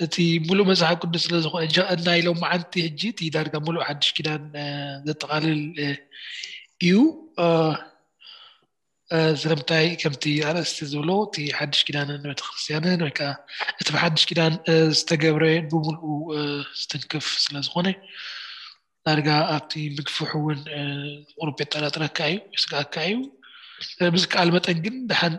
እቲ ሙሉእ መጽሓፍ ቅዱስ ስለ ዝኾነ፣ ናይ ሎማዓንቲ ሕጂ እቲ ዳርጋ ሙሉእ ሓድሽ ኪዳን ዘጠቓልል እዩ። ስለምንታይ? ከምቲ ኣርእስቲ ዝብሎ፣ እቲ ሓድሽ ኪዳንን ቤተክርስትያንን ወይ ከዓ እቲ ብሓድሽ ኪዳን ዝተገብረ ብሙሉኡ ዝትንክፍ ስለ ዝኾነ፣ ዳርጋ ኣብቲ ምግፍሑ እውን ቁሩብ የጠራጥረካ እዩ፣ የስግኣካ እዩ። ብዝከኣል መጠን ግን ደሓን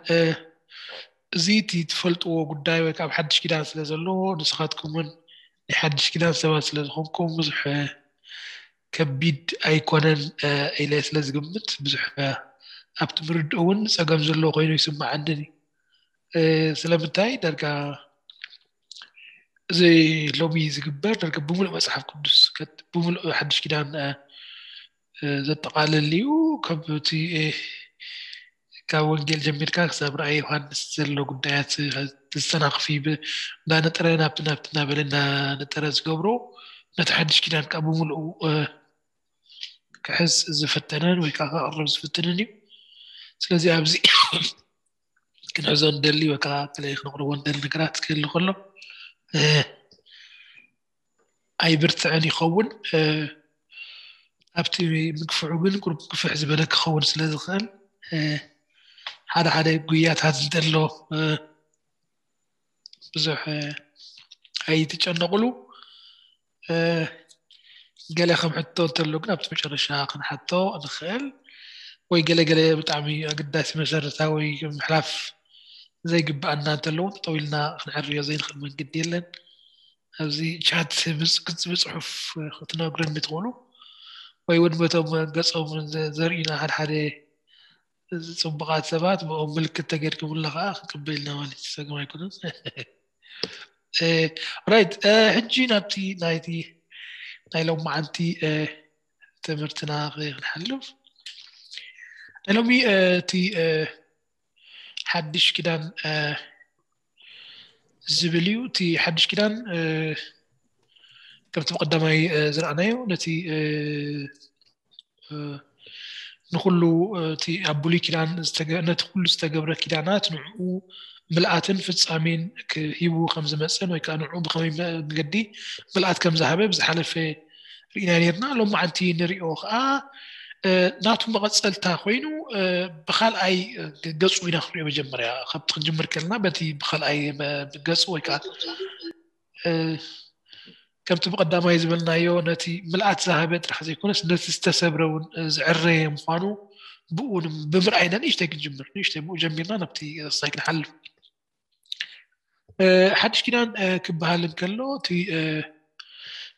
እዚ እቲ ትፈልጥዎ ጉዳይ ወይ ከዓ ሓድሽ ኪዳን ስለ ዘለዎ፣ ንስኻትኩም እውን ናይ ሓድሽ ኪዳን ሰባት ስለ ዝኾንኩም ብዙሕ ከቢድ ኣይኮነን ኢለ ስለ ዝግምት፣ ብዙሕ ኣብቲ ምርድእ እውን ጸገም ዘለዎ ኮይኑ ይስምዓንን እዩ። ስለምንታይ? ዳርጋ እዚ ሎሚ ዝግበር ዳርጋ ብሙሉእ መጽሓፍ ቅዱስ፣ ብሙሉእ ሓድሽ ኪዳን ዘጠቓልል እዩ። ካብ እቲ ካብ ወንጌል ጀሚርካ ክሳብ ራእይ ዮሃንስ ዘሎ ጉዳያት ተስተናኽፊ፣ እንዳነጠረ ናብቲ ናብቲ እናበለ እንዳነጠረ ዝገብሮ፣ ነቲ ሓድሽ ኪዳን ከዓ ብሙሉኡ ክሕዝ ዝፍትንን ወይ ከዓ ከቕርብ ዝፍትንን እዩ። ስለዚ ኣብዚ ክንሕዞ ንደሊ ወይ ከዓ ክንቕርቦ ንደሊ ነገራት ክህሉ ከሎ ኣይብርትዕን ይኸውን። ኣብቲ ምግፍዑ ግን ቁሩብ ግፍሕ ዝበለ ክኸውን ስለ ዝኽእል፣ ሓደ ሓደ ጉያታት እንተሎ ብዙሕ ኣይትጨነቑሉ። ገለ ከም ሕቶ እንተሎ ግን ኣብቲ መጨረሻ ክንሓቶ ንኽእል፣ ወይ ገለ ገለ ብጣዕሚ ኣገዳሲ መሰረታዊ ምሕላፍ ዘይግብኣና እንተሎ እውን ጠጠው ኢልና ክንዕርዮ ዘይንኽእል መንገዲ የለን። ኣብዚ ቻት ብጽ-፣ ብጽ-፣ ብጽሑፍ ክትነግረኒ ትኽእሉ፣ ወይ እውን በቶም ገጾም ዘ-፣ ዘርእዩና ሓደ ሓደ ጽቡቓት ሰባት ብኦም ምልክት ተገድኩምልና ከዓ ክንቅበል ኢና ማለት እዩ። ጸገም ኣይኮነን። ራይት፣ ሕጂ ናብቲ ናይቲ ናይ ሎማዓንቲ ትምህርትና ክንሓልፍ፣ ናይ ሎሚ እቲ ሓድሽ ኪዳን ዝብል እዩ። እቲ ሓድሽ ኪዳን ከምቲ ብቀዳማይ ዝረኣናዮ ነቲ ንኩሉ እቲ ኣብ ብሉይ ኪዳን ዝተገ-፣ ነቲ ኩሉ ዝተገብረ ኪዳናት ንዕኡ ምልኣትን ፍጻሜን ክሂቡ ከም ዝመጽእን ወይ ከዓ ንዕኡ ብኸመይ መገዲ ምልኣት ከም ዝሃበ ብዝሓለፈ ርኢና ነርና። ሎማዓንቲ ንሪኦ ከዓ ናቱ መቐጸልታ ኮይኑ ብኻልኣይ ገጹ ኢና ክንሪኦ። መጀመርያ ካብቲ ክንጅምር ከለና በቲ ብኻልኣይ ገጹ ወይ ከዓ ከምቲ ብቐዳማይ ዝበልናዮ ነቲ ምልኣት ዝሃበ ጥራሕ ዘይኮነስ ነቲ ዝተሰብረ እውን ዝዕረየ ምዃኑ ብኡ ንም-፣ ብምርኣይና ንእሽተይ ክንጅምር፣ ንእሽተይ ብኡ ጀሚርና ናብቲ ሳይ ክንሓልፍ። ሓድሽ ኪዳን ክበሃል እንከሎ እቲ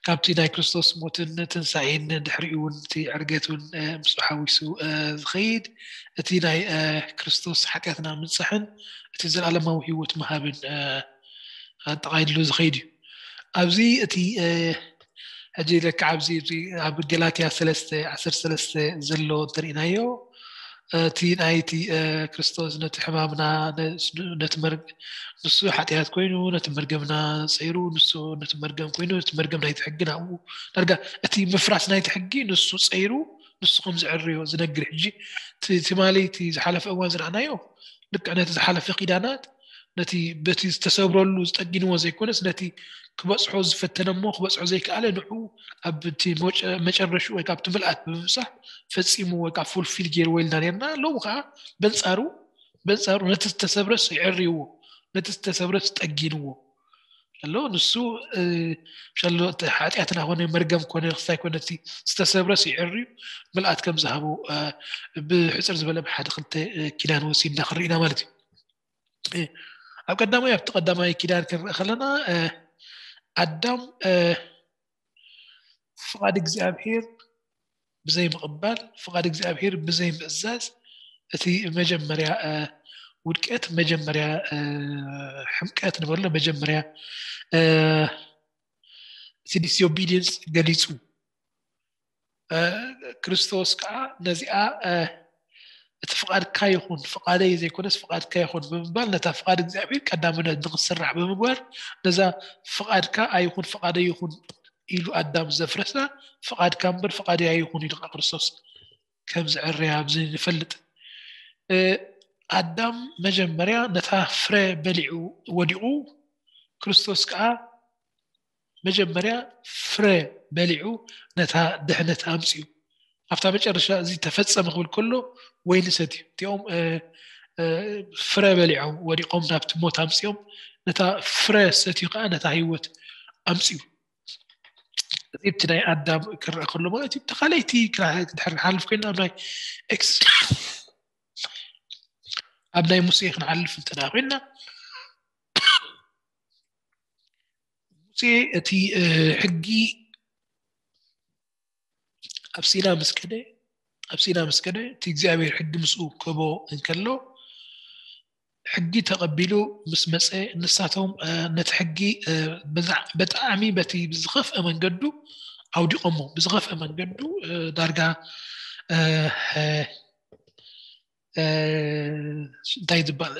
ካብቲ ናይ ክርስቶስ ሞትን ትንሳኤን ድሕሪኡ እውን እቲ ዕርገት እውን ምስኡ ሓዊሱ ዝኸይድ እቲ ናይ ክርስቶስ ሓጢኣትና ምንጻሕን እቲ ዘለኣለማዊ ህይወት ምሃብን ኣጠቓሊሉ ዝኸይድ እዩ። ኣብዚ እቲ ሕጂ ለካ ኣብዚ ኣብ ገላትያ ሰለስተ ዓሰርተ ሰለስተ ዘሎ እንተሪእናዮ እቲ ናይቲ ክርስቶስ ነቲ ሕማምና ነቲ መር-፣ ንሱ ሓጢኣት ኮይኑ ነቲ መርገምና ጸይሩ፣ ንሱ ነቲ መርገም ኮይኑ ነቲ መርገም ናይቲ ሕጊ ናብኡ ዳርጋ እቲ ምፍራስ ናይቲ ሕጊ ንሱ ጸይሩ ንሱ ከም ዝዕርዮ ዝነግር። ሕጂ ትማሊ እቲ ዝሓለፈ እዋን ዝረኣናዮ ልክዕ ነቲ ዝሓለፈ ኪዳናት ነቲ በቲ ዝተሰብረሉ ዝጠጊንዎ ዘይኮነስ ነቲ ክበጽሖ ዝፈተነ እሞ ክበጽሖ ዘይከኣለ ንዑ ኣብ እቲ መጨረሹ ወይ ካብቲ ምልኣት ብምብጻሕ ፈጺሙ ወይ ካብ ፉልፊል ገይርዎ ኢልና ነርና። ሎሚ ከዓ በንጻሩ በንጻሩ ነቲ ዝተሰብረስ ይዕርይዎ፣ ነቲ ዝተሰብረስ ጠጊንዎ ኣሎ። ንሱ ሻሎ እቲ ሓጢኣትና ኮነ መርገም ኮነ ክስታይ ኮነ እቲ ዝተሰብረስ ይዕርዩ ምልኣት ከም ዝሃቡ ብሕፅር ዝበለ ብሓደ ክልተ ኪዳን ወሲድና ክንርኢ ኢና ማለት እዩ። ኣብ ቀዳማይ ኣብቲ ቀዳማይ ኪዳን ክንርኢ ከለና ኣዳም ፍቓድ እግዚኣብሔር ብዘይ ምቕባል ፍቓድ እግዚኣብሔር ብዘይ ምእዛዝ እቲ መጀመርያ ውድቀት መጀመርያ ሕምቀት ንበሎ መጀመርያ እቲ ዲስኦቢዲየንስ ገሊፁ። ክርስቶስ ከዓ ነዚኣ እቲ ፍቓድካ ይኹን ፍቓደይ ዘይኮነስ ፍቓድካ ይኹን ብምባል ነታ ፍቓድ እግዚኣብሔር ቀዳምነት ንክትስራሕ ብምግባር ነዛ ፍቓድካ ኣይኹን ፍቓደይ ይኹን ኢሉ ኣዳም ዘፍረሳ ፍቓድካ እምበር ፍቓደይ ኣይኹን ኢሉ ከዓ ክርስቶስ ከም ዝዕርያ ኣብዚ ንፈልጥ። ኣዳም መጀመርያ ነታ ፍረ በሊዑ ወዲቑ ክርስቶስ ከዓ መጀመርያ ፍረ በሊዑ ነታ ድሕነት ኣምፅኡ። ኣብታ መጨረሻ እዚ ተፈጸመ ክብል ከሎ ወይኒ ሰትዩ። እቲኦም ፍረ በሊዖም ወዲቖም ናብቲ ሞት ኣምፅኦም፣ ነታ ፍረ ሰትዩ ከዓ ነታ ህይወት ኣምፅኡ። እዚ እቲ ናይ ኣዳም ክረአ ከሎ ማለት እዩ። ተኻለይቲ ድሕር ንሓልፍ ኮይና ኣብ ናይ ኤክስ ኣብ ናይ ሙሴ ክንሓልፍ እንተ ኮይና ሙሴ እቲ ሕጊ ኣብ ሲና ምስ ከደ ኣብ ሲና ምስ ከደ እቲ እግዚኣብሔር ሕጊ ምስኡ ክህቦ እንከሎ ሕጊ ተቐቢሉ ምስ መፀ ንሳቶም ነቲ ሕጊ ብጣዕሚ በቲ ብዝኸፍአ መንገዱ ኣውዲቖሞ። ብዝኸፍአ መንገዱ ዳርጋ እንታይ ዝበሃል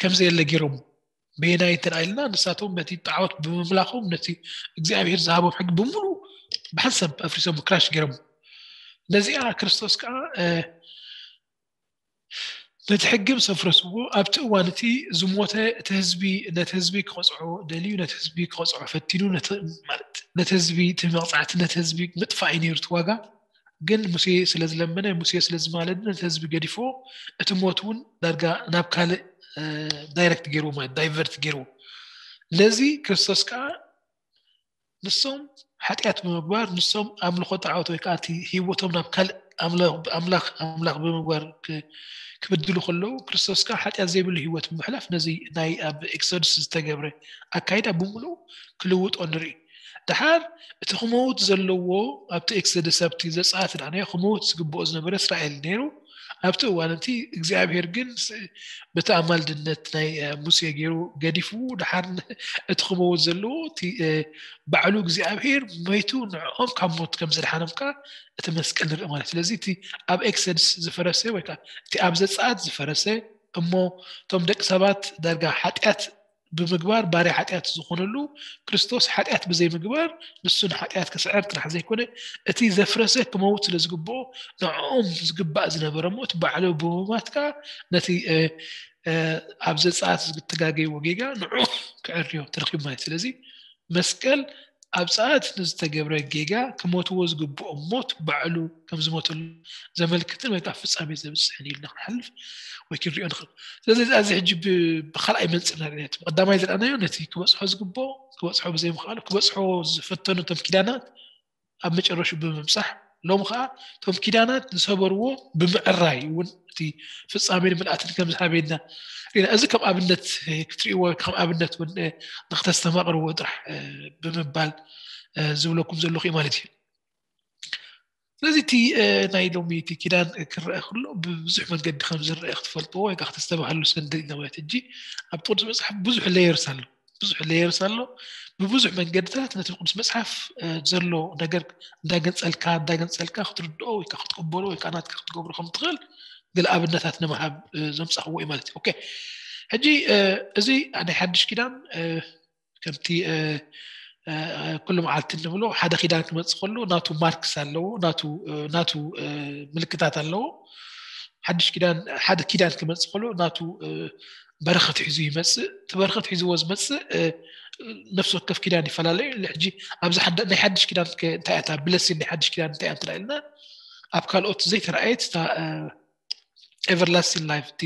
ከምዘየለ ገይሮም። በየናይ እንተ ኢልና ንሳቶም በቲ ጣዖት ብምምላኾም ነቲ እግዚኣብሔር ዝሃቦም ሕጊ ብምሉ ብሓንሳብ ኣፍሪሶም ክራሽ ገይሮም። ነዚኣ ክርስቶስ ከዓ ነቲ ሕጊ ምስ ኣፍረስዎ ኣብቲ እዋን እቲ ዝሞተ እቲ ህዝቢ ነቲ ህዝቢ ክቐፅዖ ደልዩ ነቲ ህዝቢ ክቐፅዖ ፈቲኑ ነቲ ህዝቢ እቲ መቕፃዕቲ ነቲ ህዝቢ ምጥፋእ እዩ ነይሩ እቲ ዋጋ። ግን ሙሴ ስለ ዝለመነ ሙሴ ስለ ዝማለደ ነቲ ህዝቢ ገዲፎ እቲ ሞት እውን ዳርጋ ናብ ካልእ ዳይረክት ገይርዎ ማለት ዳይቨርት ገይርዎ። ነዚ ክርስቶስ ከዓ ንሶም ሓጢኣት ብምግባር ንሶም ኣምልኾ ጣዖት ወይ ከዓ እቲ ህይወቶም ናብ ካልእ ኣምላኽ ኣምላኽ ብምግባር ክብድሉ ከለዉ ክርስቶስ ከዓ ሓጢኣት ዘይብሉ ህይወት ብምሕላፍ ነዚ ናይ ኣብ ኤክሶድስ ዝተገብረ ኣካይዳ ብምሉኡ ክልውጦ ንርኢ። ደሓር እቲ ክመውት ዘለዎ ኣብቲ ኤክሶደስ ኣብቲ ዘፀኣት ዳዕናዮ ክመውት ዝግብኦ ዝነበረ እስራኤል ነይሩ። ኣብቲ እዋን እቲ እግዚኣብሔር ግን በቲ ኣማልድነት ናይ ሙሴ ገይሩ ገዲፉ ደሓር እቲ ክመውት ዘለዎ እቲ ባዕሉ እግዚኣብሔር መይቱ ንዕኦም ካብ ሞት ከም ዘድሓኖም ከዓ እቲ መስቀል ንርኢ ማለት። ስለዚ እቲ ኣብ ኤክሶደስ ዝፈረሰ ወይ ከዓ እቲ ኣብ ዘፀኣት ዝፈረሰ እሞ እቶም ደቂ ሰባት ዳርጋ ሓጢኣት ብምግባር ባርያ ሓጢኣት ዝኾነሉ ክርስቶስ ሓጢኣት ብዘይምግባር ንሱ ንሓጢኣት ክስዕር ጥራሕ ዘይኮነ እቲ ዘፍረሰ ክመውት ስለ ዝግብኦ ንዕኦም ዝግባእ ዝነበረ ሞት ባዕሉ ብምማት ከዓ ነቲ ኣብ ዘፀኣት ዝተጋገይዎ ጌጋ ንዑ ክዕርዮ ተረኪቡ ማለት። ስለዚ መስቀል ኣብ ፀኣት ንዝተገብረ ጌጋ ክሞትዎ ዝግብኦም ሞት ባዕሉ ከም ዝሞተሉ ዘመልክትን ወይ ከዓ ፍፃሜ ዘብፅሕን ኢልና ክንሓልፍ ወይ ክንሪኦ ንኽእል። ስለዚ እዚ ሕጂ ብካልኣይ መንፅር ኢና ርኢናዮ። ብቀዳማይ ዝረኣናዮ ነቲ ክበፅሖ ዝግብኦ ክበፅሖ ብዘይምኽኣሉ ክበፅሖ ዝፈተኑ እቶም ኪዳናት ኣብ መጨረሹ ብምብፃሕ ሎም ከዓ እቶም ኪዳናት ዝሰበርዎ ብምዕራይ እውን እቲ ፍፃሜን ምልኣትን ከም ዝሃበና ርኢና። እዚ ከም ኣብነት ክትሪእዎ ከም ኣብነት እውን ንክተስተማቕርዎ ጥራሕ ብምባል ዝብለኩም ዘለኹ እዩ ማለት እዩ። ስለዚ እቲ ናይ ሎሚ እቲ ኪዳን ክረአ ከሎ ብብዙሕ መንገዲ ከም ዝረአ ክትፈልጥዎ ወይ ከዓ ክተስተባህሉ ስንድል ኢና ማለት። ሕጂ ኣብ ቅዱስ መፅሓፍ ብዙሕ ሌየርስ ኣሎ ብዙሕ ሌየርስ ኣሎ። ብብዙሕ መንገድታት ነቲ ቅዱስ መፅሓፍ ዘሎ ነገር እንዳገንፀልካ እንዳገንፀልካ ክትርድኦ ወይ ከዓ ክትቅበሎ ወይ ከዓ ናትካ ክትገብሮ ከም ትኽእል ገለ ኣብነታት ንምሃብ ዘምፃኽዎ እዩ ማለት እዩ። ኦኬ ሕጂ እዚ ናይ ሓድሽ ኪዳን ከምቲ ኩሉ መዓልቲ እንብሎ ሓደ ኪዳን ክመፅእ ከሎ ናቱ ማርክስ ኣለዎ ናቱ ምልክታት ኣለዎ። ሓድሽ ኪዳን ሓደ ኪዳን ክመፅእ ከሎ ናቱ በረኸት ሒዙ ይመፅእ። እቲ በረኸት ሒዝዎ ዝመፅእ ነፍሲ ወከፍ ኪዳን ይፈላለዩ። ሕጂ ኣብዚ ናይ ሓድሽ ኪዳን እንታይ እያ እታ ብለሲን ናይ ሓድሽ ኪዳን እንታይ እያ እንተ ኢልና ኣብ ካልኦት ዘይተረኣየት እታ ኤቨርላስቲን ላይፍ እቲ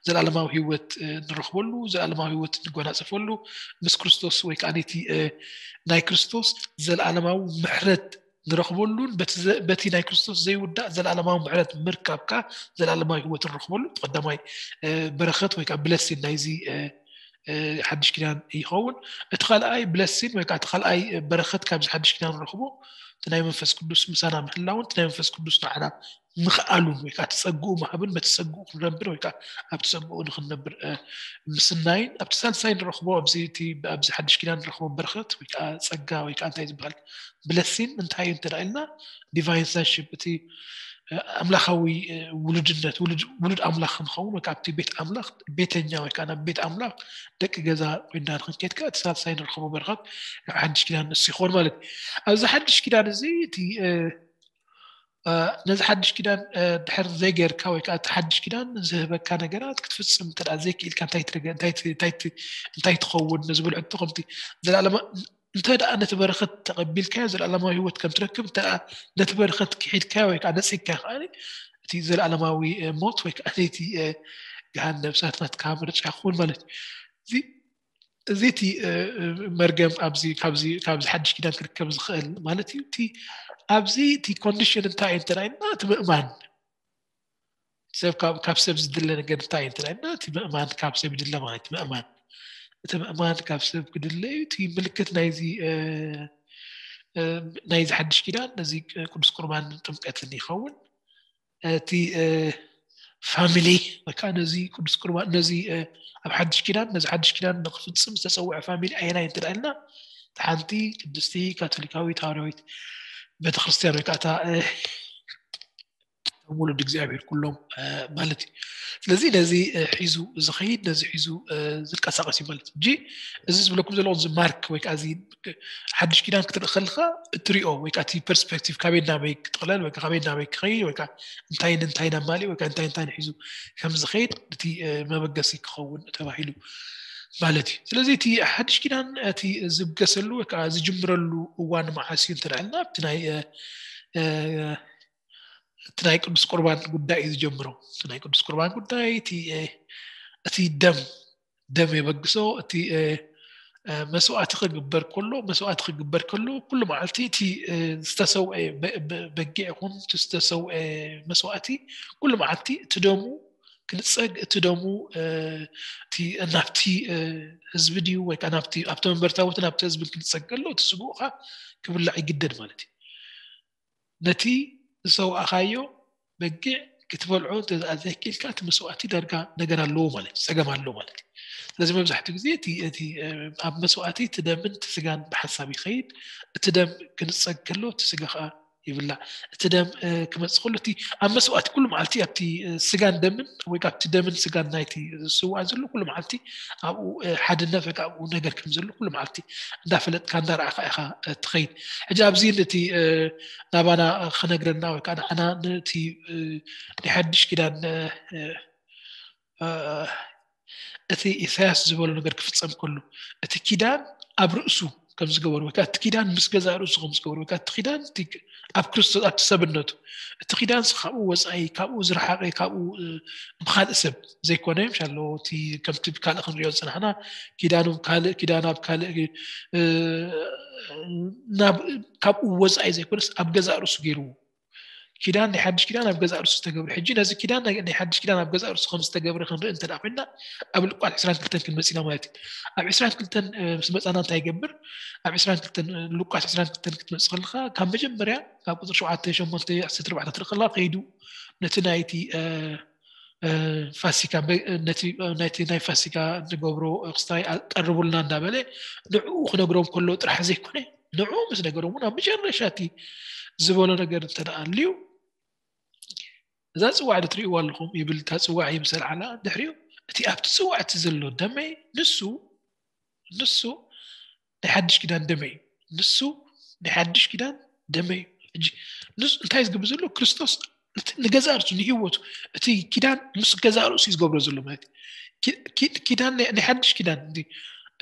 ዘለኣለማዊ ህይወት ንረኽበሉ ዘለኣለማዊ ህይወት ንጎናፀፈሉ ምስ ክርስቶስ ወይ ከዓ ነቲ ናይ ክርስቶስ ዘለኣለማዊ ምሕረት ንረኽበሉን በቲ ናይ ክርስቶስ ዘይውዳእ ዘለኣለማዊ ምሕረት ምርካብካ ዘለኣለማዊ ህይወት ንረኽበሉ ቀዳማይ በረኸት ወይ ከዓ ብለሲን ናይዚ ሓድሽ ኪዳን ይኸውን። እቲ ካልኣይ ብለሲን ወይ ከዓ እቲ ካልኣይ በረኸት ካብዚ ሓድሽ ኪዳን ንረኽቦ እቲ ናይ መንፈስ ቅዱስ ምሳና ምህላውን እቲ ናይ መንፈስ ቅዱስ ንዓና ምኽኣሉን ወይ ከዓ እቲ ፀግኡ ምሃብን በቲ ፀግኡ ክንነብር ወይ ከዓ ኣብቲ ፀግኡ ንክንነብር ምስናይን ኣብቲ ሳልሳይ ንረኽቦ ኣብዚ ኣብዚ ሓድሽ ኪዳን ንረኽቦ በረኸት ወይ ከዓ ፀጋ ወይ ከዓ እንታይ ዝበሃል ብለሲን እንታይ እዩ እንተ ኢልና ዲቫይን ሰንሽፕ እቲ ኣምላኻዊ ውሉድነት ውሉድ ኣምላኽ ክንኸውን ወይ ከዓ ኣብቲ ቤት ኣምላኽ ቤተኛ ወይ ከዓ ናብ ቤት ኣምላኽ ደቂ ገዛ ኮይና ንክንከይድ ከዓ እቲ ሳልሳይ ንረኽቦ በረኸት ሓድሽ ኪዳን ንሱ ይኸውን ማለት እዩ። ኣብዚ ሓድሽ ኪዳን እዚ እቲ ነዚ ሓድሽ ኪዳን ድሕር ዘይገርካ ወይ ከዓ እቲ ሓድሽ ኪዳን ዝህበካ ነገራት ክትፍፅም እንተ ዘይክኢልካ እንታይ ትረገ እንታይ እንታይ እንታይ ትኸውን ንዝብል ሕቶ ከምቲ ዘላለማ እንተ ደኣ ነቲ በረኸት ተቐቢልካዮ ዘለኣለማዊ ህይወት ከም ትረክብ እንተ ነቲ በረኸት ክሒድካዮ ወይ ከዓ ነፂግካዮ ከዓ እቲ ዘለኣለማዊ ሞት ወይ ከዓ ነቲ ገሃነብ እሳት ናትካ ምርጫ ክኸውን ማለት እዩ። እዚ እቲ መርገም ኣብዚ ካብዚ ካብዚ ሓድሽ ኪዳን ክርከብ ዝኽእል ማለት እዩ። እቲ ኣብዚ እቲ ኮንዲሽን እንታይ እዩ እንተ ኢልና እቲ ምእማን ሰብ ካብ ሰብ ዝድለ ነገር እንታይ እዩ እንተ ኢልና እቲ ምእማን ካብ ሰብ ይድለ ማለት እዩ። ምእማን እቲ ምእማን ካብ ሰብ ክድለ እዩ። እቲ ምልክት ናይዚ ናይዚ ሓድሽ ኪዳን ነዚ ቅዱስ ቁርባን ጥምቀትን ይኸውን። እቲ ፋሚሊ ወይከዓ ነዚ ቅዱስ ቁርባን ነዚ ኣብ ሓድሽ ኪዳን ነዚ ሓድሽ ኪዳን ንክፍፅም ዝተፀውዐ ፋሚሊ ኣየናይ እንተ ኢልና ሓንቲ ቅድስቲ ካቶሊካዊት ሃዋርያዊት ቤተክርስትያን ወይ ከዓ ውሉድ እግዚኣብሔር ኩሎም ማለት እዩ። ስለዚ ነዚ ሒዙ ዝኸይድ ነዚ ሒዙ ዝንቀሳቀስ እዩ ማለት እዩ። እዚ ዝብለኩም ዘለኹ እዚ ማርክ ወይ ከዓ ሓድሽ ኪዳን ክትርኢ ከለካ እትሪኦ ወይ ከዓ እቲ ፐርስፔክቲቭ ካበይ ናበይ ክጥቕለል ወይ ከዓ ካበይ ናበይ ክኸይድ ወይ ከዓ እንታይ ንእንታይ ነማልእ ወይ ከዓ እንታይ እንታይ ሒዙ ከም ዝኸይድ እቲ መበገሲ ክኸውን ተባሂሉ ማለት እዩ። ስለዚ እቲ ሓድሽ ኪዳን እቲ ዝብገሰሉ ወይ ከዓ ዝጅምረሉ እዋን መዓስ እዩ እንተልዕልና ኣብቲ ናይ እቲ ናይ ቅዱስ ቁርባን ጉዳይ እዩ ዝጀምሮ። እቲ ናይ ቅዱስ ቁርባን ጉዳይ እቲ ደም ደም የበግሶ እቲ መስዋዕቲ ክግበር ከሎ መስዋዕቲ ክግበር ከሎ ኩሉ መዓልቲ እቲ ዝተሰውአ በጊዕ ይኹን ዝተሰውአ መስዋዕቲ ኩሉ መዓልቲ እቲ ደሙ ክንፀግ እቲ ደሙ ናብቲ ህዝቢ ድዩ ወይ ናብቲ ኣብቲ መንበርታቦት ናብቲ ህዝቢ ክንፀግ ከሎ እቲ ስግኡ ከዓ ክብላዕ ይግደድ ማለት እዩ። ነቲ ዝሰውኣኻዮ በጊዕ ክትበልዖ እንተዘይክኢልካ እቲ መስዋእቲ ዳርጋ ነገር ኣለዎ ማለት እዩ፣ ፀገም ኣለዎ ማለት እዩ። ስለዚ መብዛሕትኡ ግዜ እቲ እቲ ኣብ መስዋእቲ እቲ ደምን እቲ ስጋን ብሓንሳብ ይኸይድ። እቲ ደም ክንፀግ ከሎ እቲ ስጋ ከዓ ይብላዕ። እቲ ደም ክመፅእ ከሎ እቲ ኣብ መስዋእቲ ኩሉ መዓልቲ ኣብቲ ስጋን ደምን ወይ ኣብቲ ደምን ስጋን ናይቲ ዝስዋእ ዘሎ ኩሉ መዓልቲ ኣብኡ ሓድነት ወይ ኣብኡ ነገር ከም ዘሎ ኩሉ መዓልቲ እንዳፈለጥካ እንዳረኣኻ ኢኻ ትኸይድ። ሕጂ ኣብዚ እቲ ናባና ክነግረና ወይ ከዓ ንዓና ነቲ ናይ ሓድሽ ኪዳን እቲ ኢሳያስ ዝበሎ ነገር ክፍጸም ከሎ እቲ ኪዳን ኣብ ርእሱ ከም ዝገበሩ ወይ እቲ ኪዳን ምስ ገዛ ርእሱ ከም ዝገበሩ ወይ እቲ ኪዳን ኣብ ክርስቶስ ኣብቲ ሰብነቱ እቲ ኪዳን ካብኡ ወፃኢ ካብኡ ዝረሓቀ ካብኡ ብካልእ ሰብ ዘይኮነ ምሻሎ እቲ ከምቲ ብካልእ ክንሪኦ ዝፅናሕና ኪዳኑ ካልእ ኪዳን ኣብ ካልእ ካብኡ ወፃኢ ዘይኮነስ ኣብ ገዛ ርእሱ ገይርዎ ኪዳን ናይ ሓድሽ ኪዳን ኣብ ገዛ ርእሱ ዝተገብረ ሕጂ ነዚ ኪዳን ናይ ሓድሽ ኪዳን ኣብ ገዛ ርእሱ ከም ዝተገብረ ክንርኢ እንተ ኮይና ኣብ ሉቃስ ዕስራን ክልተን ክንመፅ ኢና ማለት እዩ። ኣብ ዕስራን ክልተን ምስ መፃና እንታይ ይገብር? ኣብ ዕስራን ክልተን ሉቃስ ዕስራን ክልተን ክትመፅእ ከለካ ካብ መጀመርያ ካብ ቁፅሪ ሸውዓተ ሸሞንተ ዕስራን ኣርባዕተ ትርኢ ከለካ ከይዱ ነቲ ናይቲ ፋሲካ ነቲ ናይ ፋሲካ ንገብሮ ክስታይ ቀርቡልና እንዳበለ ንዕኡ ክነግሮም ከሎ ጥራሕ ዘይኮነ ንዕኡ ምስ ነገሮም እውን ኣብ መጨረሻ እቲ ዝበሎ ነገር እንተ ኣልዩ እዛ ፅዋዕ ዶ ትርእይዋ ኣለኹም ይብል። እታ ፅዋዕ ይምሰል ዓላ ድሕሪኡ እቲ ኣብቲ ፅዋዕ እቲ ዘሎ ደመይ ንሱ ንሱ ናይ ሓድሽ ኪዳን ደመይ እዩ። ንሱ ናይ ሓድሽ ኪዳን ደመይ እዩ። ሕጂ ንሱ እንታይ ዝገብር ዘሎ ክርስቶስ ንገዛ ርእሱ ንህይወቱ እቲ ኪዳን ምስ ገዛ ርእሱ እዩ ዝገብሮ ዘሎ ማለት እዩ። ኪዳን ናይ ሓድሽ ኪዳን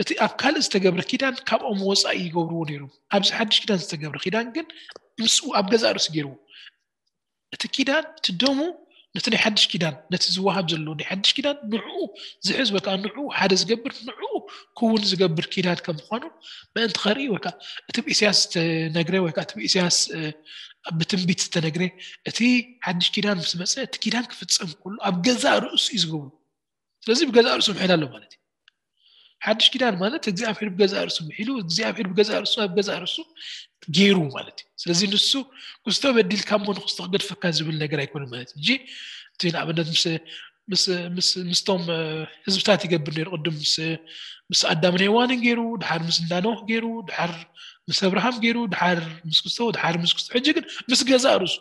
እቲ ኣብ ካልእ ዝተገብረ ኪዳን ካብኦም ወፃኢ ይገብርዎ ነይሮም። ኣብዚ ሓድሽ ኪዳን ዝተገብረ ኪዳን ግን ምስኡ ኣብ ገዛ ርእሱ ገይርዎ። እቲ ኪዳን እቲ ደሙ ነቲ ናይ ሓድሽ ኪዳን ነቲ ዝወሃብ ዘሎ ናይ ሓድሽ ኪዳን ንዕኡ ዝሕዝ ወይ ከዓ ንዕኡ ሓደ ዝገብር ንዕኡ ክውን ዝገብር ኪዳን ከም ምኳኑ ምእንቲ ከርኢ ወይ ከዓ እቲ ብኢሳያስ ዝተነግረ ወይ ከዓ እቲ ብኢሳያስ ብትንቢት ዝተነግረ እቲ ሓድሽ ኪዳን ምስ መፀ እቲ ኪዳን ክፍፀም ከሎ ኣብ ገዛ ርእሱ እዩ ዝገብሩ። ስለዚ ብገዛ ርእሱ ምሒል ኣሎ ማለት እዩ። ሓድሽ ኪዳን ማለት እግዚኣብሔር ብገዛ ርእሱ ምሒሉ እግዚኣብሔር ብገዛ ርእሱ ኣብ ገዛ ርእሱ ገይሩ ማለት እዩ። ስለዚ ንሱ ክስቶ በዲልካ እሞ ንክስቶ ክገድፈካ ዝብል ነገር ኣይኮነ ማለት እዩ። እቲ ንኣብነት ምስ ምስቶም ህዝብታት ይገብር ነይሩ ቅድም ምስ ኣዳምን ሄዋንን ገይሩ ድሓር ምስ እንዳኖህ ገይሩ ድሓር ምስ ኣብርሃም ገይሩ ድሓር ምስ ክስቶ ድሓር ምስ ክስቶ ሕጂ ግን ምስ ገዛ ርእሱ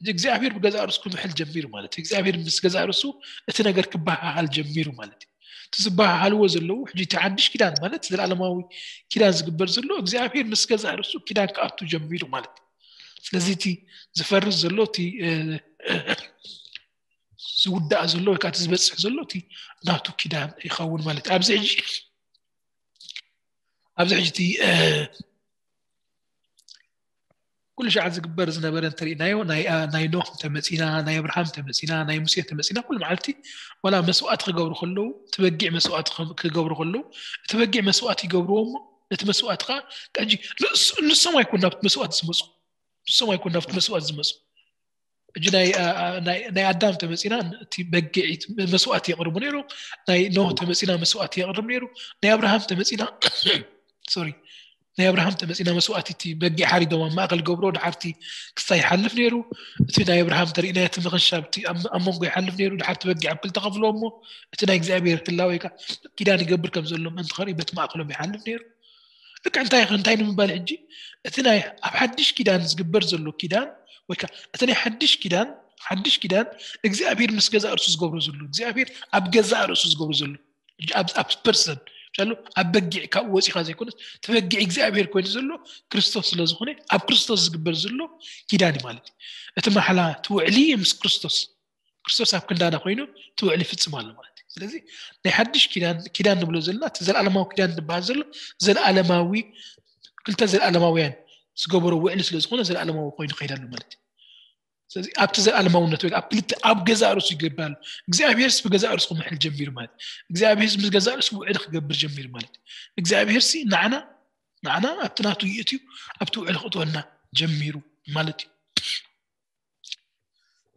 እግዚኣብሔር ብገዛ ርእሱ ክምሕል ጀሚሩ ማለት እዩ። እግዚኣብሔር ምስ ገዛ ርእሱ እቲ ነገር ክበሃሃል ጀሚሩ ማለት እዩ። እቲ ዝበሃሃልዎ ዘለዉ ሕጂ እቲ ሓድሽ ኪዳን ማለት ዘለዓለማዊ ኪዳን ዝግበር ዘሎ እግዚኣብሔር ምስ ገዛ ርእሱ ኪዳን ክኣቱ ጀሚሩ ማለት እዩ። ስለዚ እቲ ዝፈርስ ዘሎ እቲ ዝውዳእ ዘሎ ወይ ከዓ ዝበፅሕ ዘሎ እቲ ናቱ ኪዳን ይኸውን ማለት እዩ። ኣብዚ ሕጂ ኣብዚ ሕጂ እቲ ኩሉ ሸዓ ዝግበር ዝነበረ እንተሪእናዮ ናይ ኖህ ተመፂና፣ ናይ ኣብርሃም ተመፂና፣ ናይ ሙሴ ተመፂና፣ ኩሉ መዓልቲ ዋላ መስዋእቲ ክገብሩ ከለዉ እቲ በጊዕ መስዋእቲ ክገብሩ ከለዉ እቲ በጊዕ መስዋእቲ ይገብርዎ እሞ ነቲ መስዋእቲ ከዓ ንሶም ኣይኮን ናብቲ መስዋእቲ ዝመፁ ንሶም ኣይኮን ናብቲ መስዋእቲ ዝመፁ ሕጂ ናይ ኣዳም ተመፂና እቲ በጊዒት መስዋእቲ የቕርቡ ነይሩ። ናይ ኖህ ተመፂና መስዋእቲ የቕርብ ነይሩ። ናይ ኣብርሃም ተመፂና ሶሪ ናይ ኣብርሃም ተመፂና መስዋእቲ እቲ በጊዕ ሓሪዶም ኣብ ማእከል ገብሮ ድሓርቲ ክስታ ይሓልፍ ነይሩ። እቲ ናይ ኣብርሃም ተሪእና እቲ ምኽንሻብ ኣብ መንጎ ይሓልፍ ነይሩ። ድሓርቲ በጊዕ ኣብ ክልተ ከፍሎ እሞ እቲ ናይ እግዚኣብሔር ህላወ ኪዳን ይገብር ከም ዘሎ ምእንቲ ከርኢ በቲ ማእከሎም ይሓልፍ ነይሩ። ልክዕ እንታይ እንታይ ንምባል ሕጂ እቲ ናይ ኣብ ሓድሽ ኪዳን ዝግበር ዘሎ ኪዳን ወይ ከዓ እቲ ናይ ሓድሽ ኪዳን ሓድሽ ኪዳን እግዚኣብሔር ምስ ገዛእ ርእሱ ዝገብሮ ዘሎ እግዚኣብሔር ኣብ ገዛእ ርእሱ ዝገብሮ ዘሎ ኣብ ፐርሰን ቻሉ ኣብ በጊዕ ካብኡ ወፂኻ ዘይኮነስ እቲ በጊዕ እግዚኣብሔር ኮይኑ ዘሎ ክርስቶስ ስለ ዝኾነ ኣብ ክርስቶስ ዝግበር ዘሎ ኪዳን እዩ ማለት እዩ። እቲ ማሕላ እቲ ውዕሊ ምስ ክርስቶስ ክርስቶስ ኣብ ክንዳና ኮይኑ እቲ ውዕሊ ይፍፅም ኣሎ ማለት እዩ። ስለዚ ናይ ሓድሽ ኪዳን ኪዳን ንብሎ ዘለና እቲ ዘለኣለማዊ ኪዳን ዝበሃል ዘሎ ዘለኣለማዊ ክልተ ዘለኣለማውያን ዝገበሮ ውዕሊ ስለ ዝኾነ ዘለኣለማዊ ኮይኑ ይኸይድ ኣሎ ማለት እዩ። ስለዚ ኣብቲ ዘለኣለማውነት ወይ ኣብ ክልተ ኣብ ገዛእ ርእሱ ይገብር ኣሎ። እግዚኣብሔርስ ብገዛእ ርእሱ ክምሕል ጀሚሩ ማለት እዩ። እግዚኣብሔርስ ምስ ገዛእ ርእሱ ውዕሊ ክገብር ጀሚሩ ማለት እዩ። እግዚኣብሔርሲ ንዓና ንዓና ኣብቲ ናቱ ይእትዩ ኣብቲ ውዕሊ ክእትወና ጀሚሩ ማለት እዩ።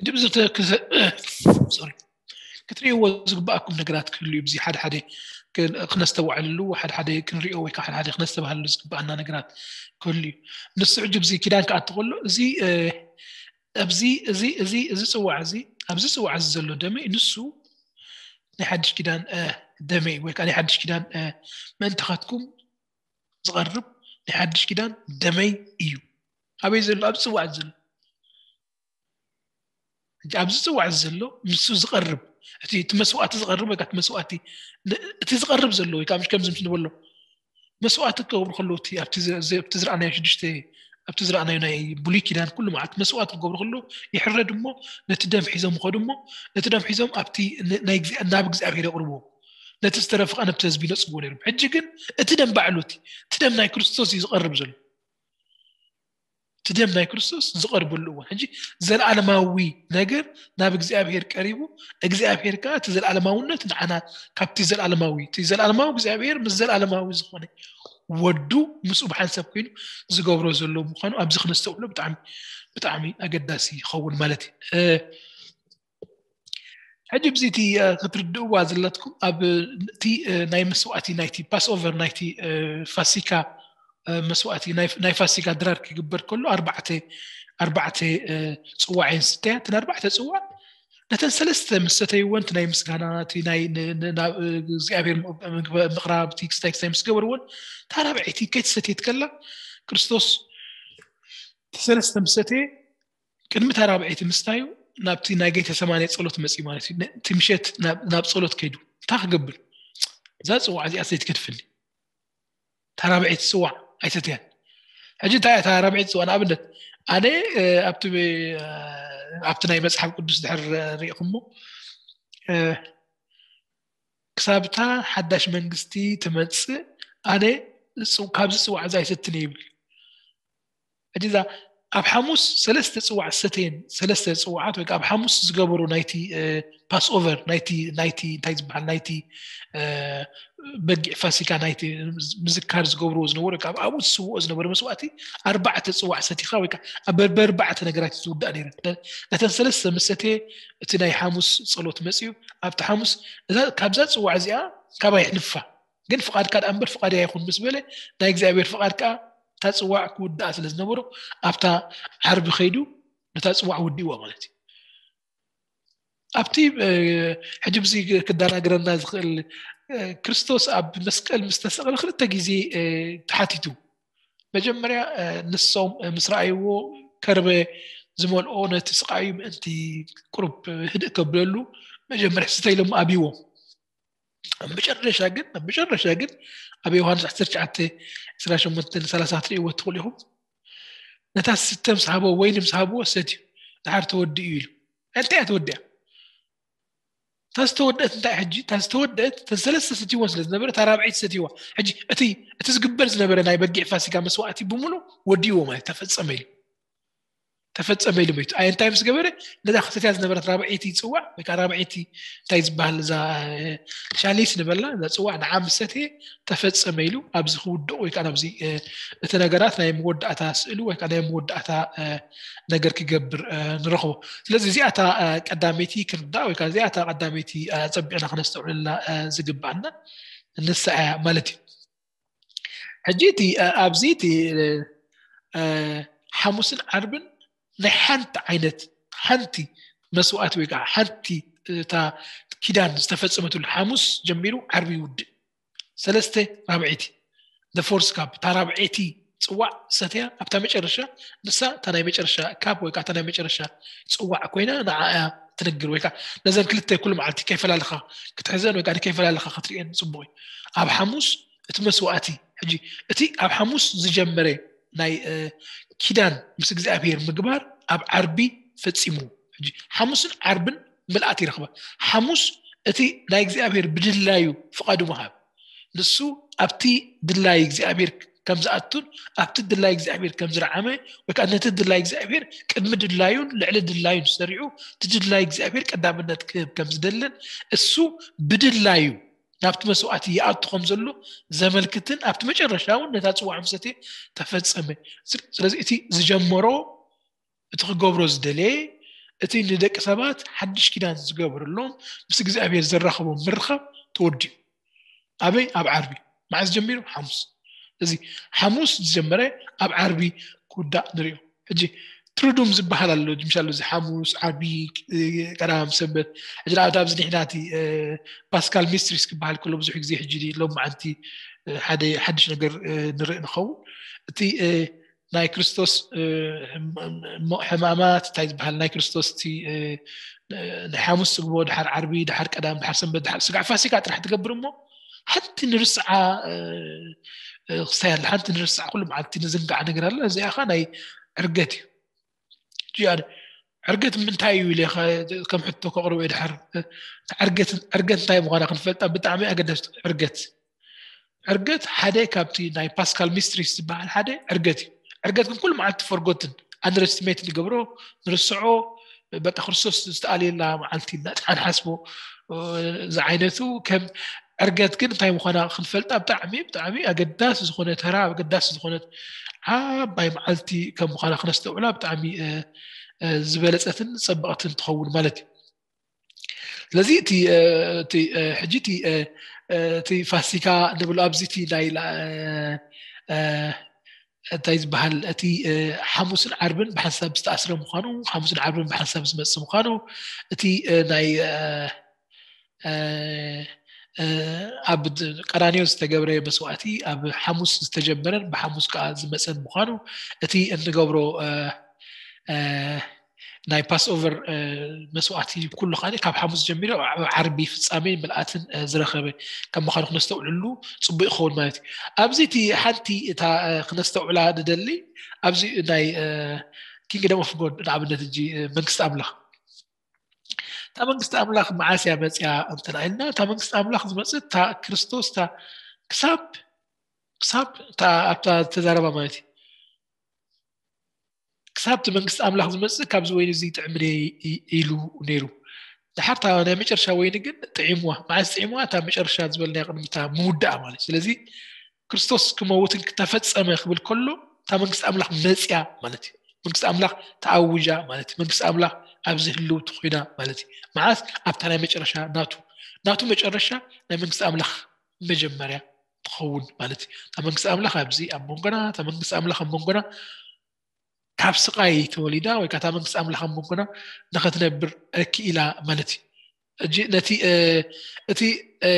ድብዚ ክትርእይዎ ዝግባኣኩም ነገራት ክህሉ እዩ። እዚ ሓደ ሓደ ክነስተውዓልሉ ሓደ ሓደ ክንሪኦ ወይ ከዓ ሓደ ሓደ ክነስተባሃልሉ ዝግባኣና ነገራት ክህሉ እዩ። ንሱ ሕጂ ብዚ ኪዳን ክኣቱ ከሎ እዚ ኣብዚ እዚ እዚ እዚ ጽዋዕ እዚ ኣብዚ ጽዋዕ እዚ ዘሎ ደመይ ንሱ ናይ ሓድሽ ኪዳን ደመይ ወይ ከዓ ናይ ሓድሽ ኪዳን ምእንታኻትኩም ዝቐርብ ናይ ሓድሽ ኪዳን ደመይ እዩ። ኣበይ ዘሎ? ኣብ ጽዋዕ ዘሎ። ሕጂ ኣብዚ ጽዋዕ ዘሎ ንሱ ዝቐርብ እቲ እቲ መስዋዕቲ ዝቐርብ ወይ እቲ መስዋዕቲ እቲ ዝቐርብ ዘሎ ወይ ከዓ ከምዚ ምስ ንበሎ መስዋዕቲ ክገብሩ ከለዉ እቲ ኣብቲ ዝረኣናዮ ሽዱሽተ ኣብቲ ዝረኣናዮ ናይ ብሉይ ኪዳን ኩሉ መዓልቲ መስዋዕቲ ክገብሩ ከለዉ ይሕረድ እሞ ነቲ ደም ሒዞም ይኸዱ እሞ ነቲ ደም ሒዞም ኣብቲ ናብ እግዚኣብሔር የቕርብዎ። ነቲ ዝተረፈ ከዓ ነብቲ ህዝቢ ይነፅግዎ ነይሮም። ሕጂ ግን እቲ ደም ባዕሉ እቲ እቲ ደም ናይ ክርስቶስ እዩ ዝቐርብ ዘሎ። እቲ ደም ናይ ክርስቶስ ዝቐርበሉ እዋን ሕጂ ዘለኣለማዊ ነገር ናብ እግዚኣብሔር ቀሪቡ እግዚኣብሔር ከዓ እቲ ዘለኣለማውነት ንዓና ካብቲ ዘለኣለማዊ እቲ ዘለኣለማዊ እግዚኣብሔር ምስ ዘለኣለማዊ ዝኾነ ወዱ ምስኡ ብሓንሳብ ኮይኑ ዝገብሮ ዘሎ ምዃኑ ኣብዚ ክነስተውዕሎ ብጣዕሚ ብጣዕሚ ኣገዳሲ ይኸውን ማለት እዩ። ሕጂ ብዚ እቲ ክትርድእዋ ዘለትኩም ኣብ እቲ ናይ መስዋእቲ ናይቲ ፓስኦቨር ናይቲ ፋሲካ መስዋእቲ ናይ ፋሲካ ድራር ክግበር ከሎ ኣርባዕተ ኣርባዕተ ፅዋዕ እየን ዝስተያ። እተን ኣርባዕተ ፅዋዕ ነተን ሰለስተ ምስ ሰተይወን እቲ ናይ ምስጋና እቲ ናይ እግዚኣብሔር ምቕራብ እቲ ክስታይ ክስታይ ምስ ገበርወን እታ ራብዐይቲ ከይተሰትየት ከላ ክርስቶስ ሰለስተ ምስ ሰተየ ቅድሚ እታ ራብዐይቲ ምስታዩ ናብቲ ናይ ጌተ ሰማንያ ጸሎት መጺኡ ማለት እዩ። እቲ ምሸት ናብ ጸሎት ከይዱ እንታይ ክገብር እዛ ጽዋዕ እዚኣ ሰይትገድፍኒ እታ ራብዐይቲ ጽዋዕ ኣይሰትያን። ሕጂ እንታይ እታ ራብዐይቲ ጽዋዕ ንኣብነት ኣነ ኣብቲ ኣብቲ ናይ መጽሓፍ ቅዱስ ድሕር ሪኢኹሞ ክሳብታ ሓዳሽ መንግስቲ ትመጽእ ኣነ ካብዚ ጽዋዕ እዚ ኣይሰትን ይብል። ሕጂ እዛ ኣብ ሓሙስ ሰለስተ ጽዋዕ ሰተየን ሰለስተ ጽዋዓት ወይ ኣብ ሓሙስ ዝገበሩ ናይቲ ፓስኦቨር ናይቲ ናይቲ እንታይ ዝበሃል ናይቲ በጊዕ ፋሲካ ናይቲ ምዝካር ዝገብርዎ ዝነበሩ ካብ ኣብኡ ዝስውኦ ዝነበረ መስዋእቲ ኣርባዕተ ጽዋዕ ሰቲኻ ወይ በርባዕተ ነገራት ዝውዳእ ነይረ። ነተን ሰለስተ ምስ ሰተየ እቲ ናይ ሓሙስ ጸሎት መጽዩ ኣብቲ ሓሙስ ካብዛ ጽዋዕ እዚኣ ካባይ ይሕልፋ ግን ፍቓድካ ደኣ እምበር ፍቓደይ ኣይኹን ምስ በለ ናይ እግዚኣብሔር ፍቓድ ከዓ እታ ፅዋዕ ክውድኣ ስለ ዝነበሮ ኣብታ ዓርቢ ከይዱ ነታ ፅዋዕ ውዲእዋ ማለት እዩ። ኣብቲ ሕጂ ብዚ ክደናግረና ዝኽእል ክርስቶስ ኣብ መስቀል ምስ ተሰቕለ ክልተ ግዜ ተሓቲቱ። መጀመርያ ንሶም ምስ ረኣይዎ ከርበ ዝመልኦ ነቲ ስቓዩ ምእንቲ ቁሩብ ህድእ ከብለሉ መጀመርያ ስተ ኢሎም ኣብይዎም። ኣብ መጨረሻ ግን ኣብ መጨረሻ ግን ኣብ ዮሃንስ ዓሰርተ ትሽዓተ ዕስራን ሸሞንተን ሰላሳ ትርእይዎ ትኽእሉ ኢኹም። ነታ ስተ ምስ ሃቦ፣ ወይኒ ምስ ሃብዎ ሰትዩ፣ ድሓር ተወዲኡ ኢሉ። እንታይ እያ ተወዲኣ? እታ ዝተወደአት እንታይ ሕጂ? እታ ዝተወደአት፣ እተን ሰለስተ ሰትይወን ስለ ዝነበረ፣ እታ ራብዐይቲ ሰትይዋ። ሕጂ እቲ፣ እቲ ዝግበር ዝነበረ ናይ በጊዕ ፋሲካ መስዋእቲ ብምሉእ ወዲእዎ ማለት ተፈጸመ ኢሉ። ተፈጸመ ኢሉ መይቱ። ኣይ እንታይ ምስ ገበረ? ነዛ ክሰትያ ዝነበረት ራብዐይቲ ጽዋዕ ወይ ከዓ ራብዐይቲ እንታይ ዝበሃል እዛ፣ እ፣ ሻሊስ ንበላ፣ እዛ ጽዋዕ ንዓ ምስ ሰትየ ተፈጸመ ኢሉ ኣብዚ ክውድቕ ወይ ከዓ ኣብዚ፣ እ፣ እቲ ነገራት ናይ መወዳእታ ስእሉ ወይ ከዓ ናይ መወዳእታ፣ እ፣ ነገር ክገብር፣ እ፣ ንረኽቦ። ስለዚ እዚኣ እታ፣ እ፣ ቀዳመይቲ ክንርዳእ ወይ ከዓ እዚኣ እታ ቀዳመይቲ፣ እ፣ ጸቢቕና ክነስተውዕለላ፣ እ፣ ዝግባኣና ንሳ እያ ማለት እዩ። ሕጂ እቲ፣ እ፣ ኣብዚ እቲ፣ እ፣ እ፣ ሓሙስን ዓርብን ናይ ሓንቲ ዓይነት፣ ሓንቲ መስዋእቲ ወይ ከዓ ሓንቲ እታ ኪዳን ዝተፈጸመትሉ ሓሙስ ጀሚሩ ዓርቢ ይውድእ። ሰለስተ ራብዐይቲ፣ the fourth cup፣ እታ ራብዐይቲ ጽዋዕ ሰትያ ኣብታ መጨረሻ፣ ንሳ እታ ናይ መጨረሻ ካፕ ወይ ከዓ እታ ናይ መጨረሻ ጽዋዕ ኮይና ንዓ እያ ትነግር ወይ ከዓ ነዘን ክልተ ኩሉ መዓልቲ ከይፈላለኻ ክትሕዘን ወይ ከዓ ከይፈላለኻ ክትርእየን ጽቡቕ እዩ። ኣብ ሓሙስ እቲ መስዋእቲ፣ ሕጂ እቲ ኣብ ሓሙስ ዝጀመረ ናይ፣ እ፣ ኪዳን ምስ እግዚኣብሔር ምግባር ኣብ ዓርቢ ፈጺሙ። ሕጂ ሓሙስን ዓርብን ምልኣት ይረኽባ። ሓሙስ እቲ ናይ እግዚኣብሔር ብድላዩ ፍቓዱ ምሃብ። ንሱ ኣብቲ ድላይ እግዚኣብሔር ከም ዝኣቱን ኣብቲ ድላይ እግዚኣብሔር ከም ዝረዓመ ወይ ከዓ ነቲ ድላይ እግዚኣብሔር ቅድሚ ድላዩን ልዕሊ ድላዩን ሰሪዑ እቲ ድላይ እግዚኣብሔር ቀዳምነት ክህብ ከም ዝደልን እሱ ብድላዩ ናብቲ መስዋእቲ ይኣቱ ከም ዘሎ ዘመልክትን ኣብቲ መጨረሻ እውን ነታ ጽዋዕ ምስ ሰትየ ተፈጸመ። ስለ-፣ ስለዚ እቲ ዝጀመሮ፣ እቲ ክገብሮ ዝደለየ፣ እቲ ንደቂ ሰባት ሓድሽ ኪዳን ዝገብረሎም ምስ እግዚኣብሔር ዘራኽቦም ምርኻብ ተወዲኡ። ኣበይ? ኣብ ዓርቢ። መዓዝ ጀሚሩ? ሓሙስ። እዚ ሓሙስ ዝጀመረ ኣብ ዓርቢ ክውዳእ ንሪኦ። ሕጂ ትሩዱም ዝበሃል ኣሎ፣ ምሻሉ እዚ ሓሙስ፣ ዓርቢ፣ እ፣ ቀዳም ሰንበት። ሕጂ ንኣብነት ኣብዚ ንሕና እቲ፣ እ፣ ፓስካል ሚስትሪስ ክበሃል ከሎ ብዙሕ ግዜ ሕጂ ሎም መዓልቲ፣ እ፣ ሓደ ሓድሽ ነገር፣ እ፣ ንርኢ ንኸውን። እቲ፣ እ፣ ናይ ክርስቶስ፣ እ፣ ሕም-፣ ሕም-፣ ሕማማት እንታይ ዝበሃል ናይ ክርስቶስ እቲ፣ እ፣ ናይ ሓሙስ ስግቦ፣ ድሓር ዓርቢ፣ ድሓር ቀዳም፣ ድሓር ሰንበት፣ ድሓር ስጋዕ ፋሲካ ጥራሕ ትገብር እሞ ሓንቲ ንርስዓ፣ እ፣ እ፣ ክስታይ ኣላ። ሓንቲ ንርስዓ፣ ኩሉ መዓልቲ ንዝንጋዕ ነገር ኣላ። እዚኣ ኸኣ ናይ ዕርገት እዩ። እዚኣ ድ-፣ ዕርገት ምንታይ እዩ ኢለ ኸ-፣ ከም ሕቶ ከቕርቦ እየ ድሓር። እ፣ ዕርገት፣ ዕርገት እንታይ ምዃና ክንፈልጣ ብጣዕሚ ኣገዳሲት ዕርገት። ዕርገት ሓደ ካብቲ ናይ ፓስካል ሚስትሪስ ዝበሃል ሓደ ዕርገት እዩ። ዕርገት ግን ኩሉ መዓልቲ ፈርጎትን ኣንደረስቲሜት ንገብሮ፣ ንርስዖ፣ በቃ ክርስቶስ ዝተኣልየላ መዓልቲ ኢልና ጥራሕ ንሓስቦ፣ እ፣ ዝዓይነቱ ከም ዕርገት ግን እንታይ ምዃና ክንፈልጣ ብጣዕሚ፣ ብጣዕሚ ኣገዳሲ ዝኾነ ተራ፣ ኣገዳሲ ዝኾነት ዓባይ መዓልቲ ከም ምዃና ክነስተውዕላ ብጣዕሚ፣ እ፣ እ፣ ዝበለጸትን ጸበቕትን ትኸውን ማለት እዩ። ስለዚ እቲ፣ እ፣ እቲ፣ እ፣ ሕጂ እቲ፣ እ፣ እ፣ እቲ ፋሲካ ንብሎ ኣብዚ እቲ ናይ ላ-፣ እ፣ እ፣ እንታይ ዝበሃል እቲ፣ እ፣ ሓሙስን ዓርብን ብሓንሳብ ዝተኣስረ ምዃኑ፣ ሓሙስን ዓርብን ብሓንሳብ ዝመጽእ ምዃኑ፣ እቲ፣ እ፣ ናይ፣ እ፣ እ፣ እ፣ ኣብ ድ-፣ ቀራንዮ ዝተገብረ መስዋእቲ ኣብ ሓሙስ ዝተጀመረን ብሓሙስ ከኣ ዝመጸን ምዃኑ፣ እቲ እንገብሮ፣ እ፣ እ፣ ናይ ፓስኦቨር፣ እ፣ መስዋእቲ ኩሉ ኸኣ ካብ ሓሙስ ጀሚሩ ኣብ ዓርቢ ፍጻሜ ምልኣትን፣ እ፣ ዝረኸበ ከም ምዃኑ ክነስተውዕሉ ጽቡቕ ይኸውን ማለት እዩ። ኣብዚ እቲ ሓንቲ እታ፣ እ፣ ክነስተውዕላ ንደሊ፣ ኣብዚ ናይ፣ እ፣ ኪንግደም ኦፍ ጎድ ንኣብነት፣ እጂ፣ እ፣ መንግስቲ ኣምላኽ። እታ መንግስቲ ኣምላኽ መዓስ እያ መጽያ እንተ ኢልና፣ እታ መንግስቲ ኣምላኽ ዝመጽእ እታ ክርስቶስ፣ እታ ክሳብ፣ ክሳብ እታ ኣብታ ዝተዛረባ ማለት እዩ። ክሳብ እቲ መንግስቲ ኣምላኽ ዝመጽእ ካብዚ ወይኒ እዚ ይጥዕምኒ ኢ-፣ ኢሉ ነይሩ። ድሓር እታ ናይ መጨረሻ ወይኒ ግን ጥዒምዋ። መዓስ ጥዒምዋ? እታ መጨረሻ ዝበልናያ ቅድሚ እታ ምውዳኣ ማለት እዩ። ስለዚ ክርስቶስ ክመውትን ክተፈጸመ ክብል ከሎ እታ መንግስቲ ኣምላኽ መጽያ ማለት እዩ። መንግስቲ ኣምላኽ ተኣውጃ ማለት እዩ። መንግስቲ ኣምላኽ ኣብዚ ህልውቲ ኮይና ማለት እዩ። መዓስ? ኣብታ ናይ መጨረሻ ናቱ፣ ናቱ መጨረሻ ናይ መንግስቲ ኣምላኽ መጀመርያ ትኸውን ማለት እዩ። እታ መንግስቲ ኣምላኽ ኣብዚ ኣብ መንጎና፣ እታ መንግስቲ ኣምላኽ ኣብ መንጎና ካብ ስቓይ ተወሊዳ ወይ ከዓ እታ መንግስቲ ኣምላኽ ኣብ መንጎና ንኸትነብር ክኢላ ማለት እዩ። ሕጂ ነቲ፣ እ፣ እቲ፣ እ፣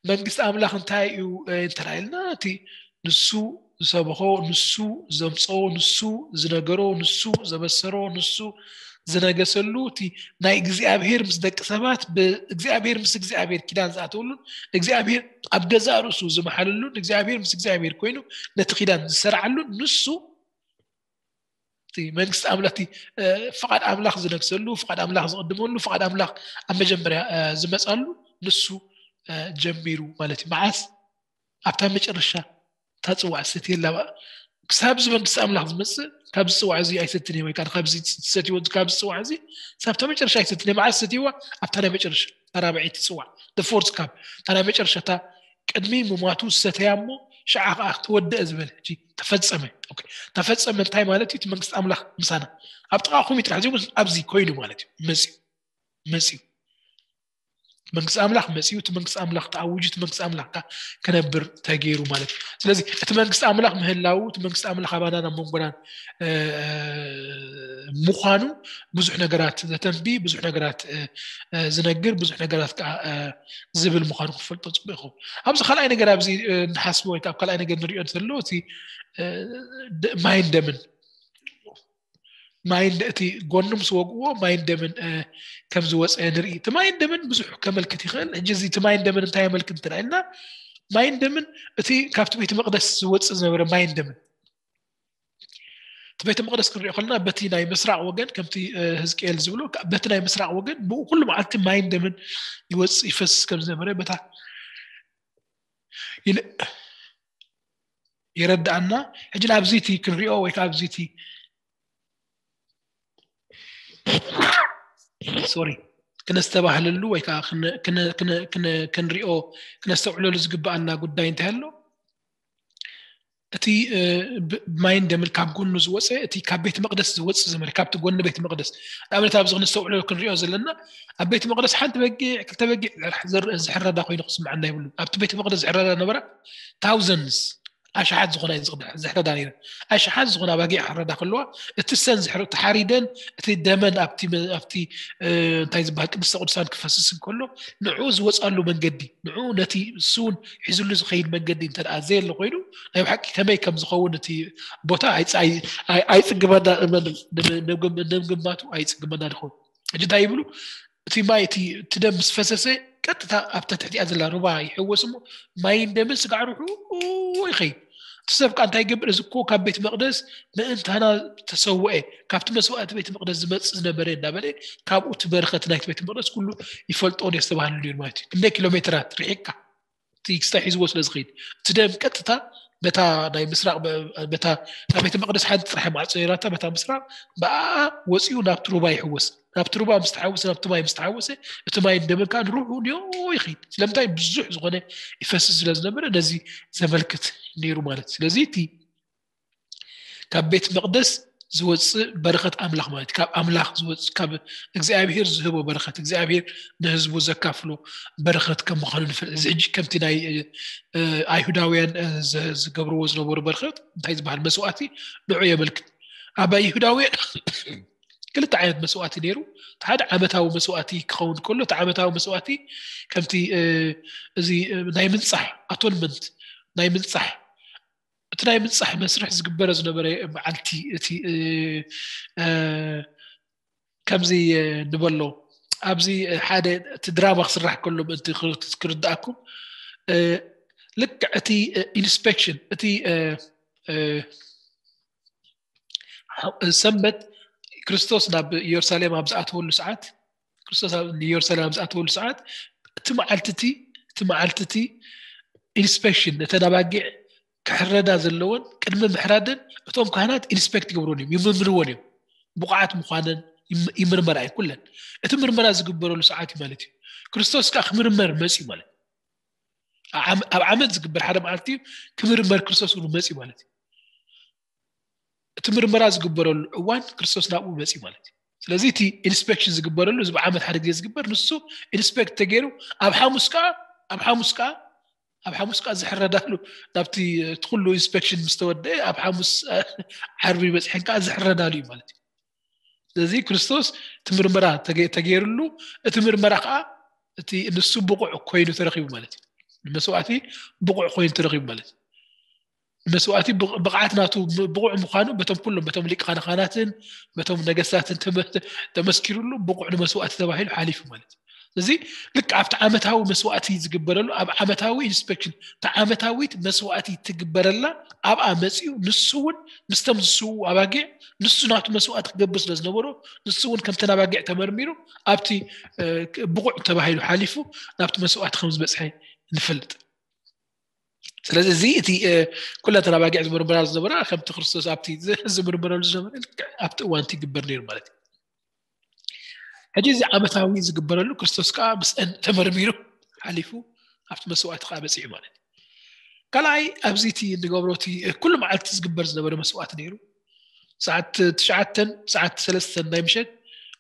መንግስቲ ኣምላኽ እንታይ እዩ፣ እ፣ እንተና ኢልና፣ እቲ ንሱ ዝሰበኾ፣ ንሱ ዘምፀኦ፣ ንሱ ዝነገሮ፣ ንሱ ዘበሰሮ፣ ንሱ ዝነገሰሉ፣ እቲ ናይ እግዚኣብሔር ምስ ደቂ ሰባት፣ ብእግዚኣብሔር ምስ እግዚኣብሔር ኪዳን ዝኣተወሉን፣ እግዚኣብሔር ኣብ ገዛእ ርእሱ ዝመሓለሉን፣ እግዚኣብሔር ምስ እግዚኣብሔር ኮይኑ ነቲ ኪዳን ዝሰርዓሉን፣ ንሱ እቲ መንግስቲ ኣምላኽ እቲ ፍቓድ ኣምላኽ ዝነግሰሉ፣ ፍቓድ ኣምላኽ ዝቕድመሉ፣ ፍቓድ ኣምላኽ ኣብ መጀመርያ ዝመፃሉ ንሱ ጀሚሩ ማለት እዩ። መዓስ? ኣብታ መጨረሻ እታ ፅዋዕ ሰትየላ። ክሳብ እዚ መንግስቲ ኣምላኽ ዝመፅእ ካብዚ ፅዋዕ እዚ ኣይሰትን እየ፣ ወይ ከዓ ካብዚ ዝሰትይዎ ካብዚ ፅዋዕ እዚ ሳብታ መጨረሻ ኣይሰትን እየ። መዓስ ሰትይዋ? ኣብታ ናይ መጨረሻ፣ እታ ራብዐይቲ ፅዋዕ፣ the fourth cup፣ እታ ናይ መጨረሻ፣ እታ ቅድሚ ምሟቱ ዝሰተያ እሞ ሽዓ ከዓ ተወደአ ዝበለ፣ ሕጂ ተፈጸመ። ኦኬ፣ ተፈጸመ እንታይ ማለት እዩ? እቲ መንግስቲ ኣምላኽ ምሳና ኣብ ጥቓኹም እዩ ጥራሕ ዘይኮነስ ኣብዚ ኮይኑ ማለት እዩ። መፅዩ፣ መፅዩ መንግስቲ ኣምላኽ መፅዩ፣ እቲ መንግስቲ ኣምላኽ ተኣዊጁ፣ እቲ መንግስቲ ኣምላኽ ከዓ ክነብር ተገይሩ ማለት እዩ። ስለዚ እቲ መንግስቲ ኣምላኽ ምህላው፣ እቲ መንግስቲ ኣምላኽ ኣባናን ኣብ መንጎናን ምዃኑ ብዙሕ ነገራት ዘተንቢ፣ ብዙሕ ነገራት ዝነግር፣ ብዙሕ ነገራት ከዓ ዝብል ምዃኑ ክፈልጦ ፅቡቅ ይኸውን። ኣብዚ ካልኣይ ነገር ኣብዚ ንሓስቦ ወይ ከዓ ኣብ ካልኣይ ነገር ንሪኦ ዘሎ እቲ ማይን ደምን ማይን እቲ ጎኑ ምስ ወግእዎ ማይን ደምን ከም ዝወፀ ንርኢ። እቲ ማይን ደምን ብዙሕ ከመልክት ይኽእል። ሕጂ እዚ እቲ ማይን ደምን እንታይ የመልክት እንትና ኢልና፣ ማይን ደምን እቲ ካብቲ ቤተ መቅደስ ዝወፅእ ዝነበረ ማይን ደምን፣ እቲ ቤተ መቅደስ ክንሪኦ ከለና በቲ ናይ ምስራቅ ወገን ከምቲ ህዝቅኤል ዝብሎ በቲ ናይ ምስራቅ ወገን ብኡ ኩሉ መዓልቲ ማይን ደምን ይወፅእ ይፈስስ ከም ዝነበረ በታ ይረዳኣና። ሕጂ ናብዚ እቲ ክንሪኦ ወይ ከዓ ኣብዚ እቲ ሶሪ ክነስተባህለሉ ወይ ከዓ ክንሪኦ ክነስተውዕለሉ ዝግበኣና ጉዳይ እንታይ ኣሎ? እቲ ማይን ደምን ካብ ጎኑ ዝወፀ እቲ ካብ ቤት መቅደስ ዝወፅ ዝመረ ካብቲ ጎኒ ቤት መቅደስ ንኣብነት ኣብዚ ክነስተውዕለሉ ክንሪኦ ዘለና ኣብ ቤት መቅደስ ሓንቲ በጊዕ ክልተ በጊዕ ዝሕረዳ ኮይኑ ክስምዓና ይብሉ። ኣብቲ ቤት መቅደስ ዝሕረዳ ነበራ ታውዘንስ ኣሽሓት ዝኾና ዝሕረዳ ነረ ኣሽሓት ዝኾና ባጊዕ ክሕረዳ ከለዋ እቲ ሰን ተሓሪደን እቲ ደመን ኣብቲ እንታይ ዝበሃል ቅድስተ ቅዱሳን ክፈስስ እንከሎ ንዑ ዝወፃሉ መንገዲ ንዑ ነቲ እሱውን ሒዝሉ ዝኸይድ መንገዲ እንተ ዘየለ ኮይኑ ናይ ብሓቂ ከመይ ከም ዝኸውን እቲ ቦታ ኣይፅግመና ንምግማቱ ኣይፅግመና ዝኸውን። ሕጂ እንታይ ይብሉ? እቲ ማይ እቲ ደም ምስ ፈሰሰ ቀጥታ ኣብታ ትሕቲኣ ዘላ ሩባ ይሕወስ እሞ ማይን ደምን ስጋዕ ርሑ ይኸይድ። እቲ ሰብ ከዓ እንታይ ይገብር? እዚ እኮ ካብ ቤት መቅደስ ምእንታና ተሰውአ፣ ካብቲ መስዋእቲ ቤት መቅደስ ዝመፅእ ዝነበረ እናበለ ካብኡ እቲ በረኸት ናይቲ ቤት መቅደስ ኩሉ ይፈልጦን የስተባህልሉ እዩ ማለት እዩ። ክንደይ ኪሎ ሜትራት ርሒቅካ እቲ ክስታይ ሒዝዎ ስለ ዝኸይድ እቲ ደም ቀጥታ በታ ናይ ምስራቅ በታ ናይ ቤተ መቅደስ ሓንቲ ጥራሕ ማዕፆ ነራታ በታ ምስራቅ ብኣ ወፂኡ ናብቲ ሩባ ይሕወስ። ናብቲ ሩባ ምስ ተሓወሰ ናብቲ ማይ ምስ ተሓወሰ እቲ ማይ ደምን ከዓ ንሩሑ ንዮ ይኸይድ። ስለምንታይ? ብዙሕ ዝኾነ ይፈስስ ስለ ዝነበረ ነዚ ዘመልክት ነይሩ ማለት። ስለዚ እቲ ካብ ቤት መቅደስ ዝወፅእ በረኸት ኣምላኽ ማለት ካብ ኣምላኽ ዝወፅእ ካብ እግዚኣብሔር ዝህቦ በረኸት እግዚኣብሔር ንህዝቡ ዘካፍሎ በረኸት ከም ምዃኑ ንፈልጥ። እዚ ሕጂ ከምቲ ናይ ኣይሁዳውያን ዝገብርዎ ዝነበሩ በረኸት እንታይ ዝበሃል መስዋእቲ ንዑ የመልክት። ኣብ ኣይሁዳውያን ክልተ ዓይነት መስዋእቲ ነይሩ። ሓደ ዓመታዊ መስዋእቲ ክኸውን ከሎ እቲ ዓመታዊ መስዋእቲ ከምቲ እዚ ናይ ምንፃሕ ኣቶንመንት ናይ ምንፃሕ እቲ ናይ ምንፃሕ መስርሕ ዝግበረ ዝነበረ መዓልቲ እቲ ከምዚ ንበሎ ኣብዚ ሓደ እቲ ድራማ ክስራሕ ከሎ ምእንቲ ክርድኣኩም ልክዕ እቲ ኢንስፔክሽን እቲ ሰንበት ክርስቶስ ናብ ኢየሩሳሌም ኣብ ዝኣተወሉ ሰዓት ክርስቶስ ንኢየሩሳሌም ኣብ ዝኣተወሉ ሰዓት እቲ መዓልቲ እቲ እቲ መዓልቲ እቲ ኢንስፔክሽን ነተን ኣባጊዕ ክሕረዳ ዘለወን ቅድሚ ምሕራደን እቶም ካህናት ኢንስፔክት ይገብሩን እዮም ይምርምርዎን እዮም። ብቑዓት ምዃነን ይምርመራ እዩ ኩለን። እቲ ምርመራ ዝግበረሉ ሰዓት እዩ ማለት እዩ። ክርስቶስ ከዓ ክምርመር መፅዩ ማለት ኣብ ዓመት ዝግበር ሓደ መዓልቲ ክምርመር ክርስቶስ እውን መፅዩ ማለት እዩ። እቲ ምርመራ ዝግበረሉ እዋን ክርስቶስ ናብኡ መፅዩ ማለት እዩ። ስለዚ እቲ ኢንስፔክሽን ዝግበረሉ እዚ ብዓመት ሓደ ግዜ ዝግበር ንሱ ኢንስፔክት ተገይሩ ኣብ ሓሙስ ከዓ ኣብ ሓሙስ ከዓ ኣብ ሓሙስ ከዓ ዝሕረዳሉ ናብቲ እቲ ኩሉ ኢንስፔክሽን ምስ ተወደአ ኣብ ሓሙስ ዓርቢ በፅሐን ከዓ ዝሕረዳሉ እዩ ማለት እዩ። ስለዚ ክርስቶስ እቲ ምርመራ ተገይርሉ እቲ ምርመራ ከዓ እቲ ንሱ ብቑዕ ኮይኑ ተረኪቡ ማለት እዩ። ንመስዋእቲ ብቑዕ ኮይኑ ተረኪቡ ማለት እዩ። ንመስዋእቲ ብቕዓት ናቱ ብቑዕ ምዃኑ በቶም ኩሎም በቶም ሊቃነ ካህናትን በቶም ነገስታትን ተመስኪሩሉ ብቑዕ ንመስዋእቲ ተባሂሉ ሓሊፉ ማለት እዩ። እዚ ልክ ኣብቲ ዓመታዊ መስዋእቲ ዝግበረሉ ኣብ ዓመታዊ ኢንስፔክሽን እታ ዓመታዊት መስዋእቲ ትግበረላ ኣብኣ መፂኡ ንሱ እውን ምስቶም ዝስዉ ኣባጊዕ ንሱ ናቱ መስዋእቲ ክገብር ስለ ዝነበሮ ንሱ እውን ከምተን ኣባጊዕ ተመርሚሩ ኣብቲ ብቑዕ ተባሂሉ ሓሊፉ ናብቲ መስዋእቲ ከም ዝበፅሐ ንፈልጥ። ስለዚ እዚ እቲ ኩለተን ኣባጊዕ ዝምርምራ ዝነበራ ከምቲ ክርስቶስ ኣብቲ ዝምርምረሉ ዝነበረ ኣብቲ እዋንቲ ይግበር ነይሩ ማለት እዩ። ሕጂ እዚ ዓመታዊ ዝግበረሉ ክርስቶስ ከዓ ምስአን ተመርሚሩ ሓሊፉ ኣብቲ መስዋእቲ ከዓ በፂሑ ማለት እዩ። ካልኣይ ኣብዚ እቲ እንገብሮ እቲ ኩሉ መዓልቲ ዝግበር ዝነበረ መስዋእቲ ነይሩ። ሰዓት ትሽዓተን ሰዓት ሰለስተን ናይ ምሸት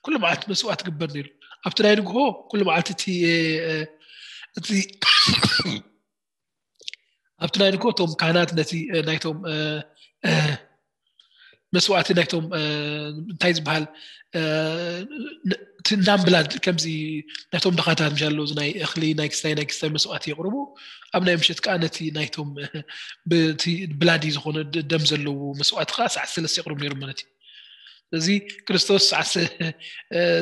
ኩሉ መዓልቲ መስዋእቲ ግበር ነይሩ። ኣብቲ ናይ ንግሆ ኩሉ መዓልቲ እቲ እቲ ኣብቲ ናይ ንግሆ እቶም ካህናት ነቲ ናይቶም መስዋእቲ ናይቶም እንታይ ዝበሃል ናምብላድ ከምዚ ናይቶም ድኻታት ምሻ ኣለዉ ናይ እኽሊ ናይ ክስታይ ናይ ክስታይ መስዋእቲ የቕርቡ። ኣብ ናይ ምሸት ከዓ ነቲ ናይቶም ብላዲ ዝኾነ ደም ዘለዎ መስዋእቲ ከዓ ሰዓት ሰለስተ የቕርቡ ነይሩ ማለት እዩ። እዚ ክርስቶስ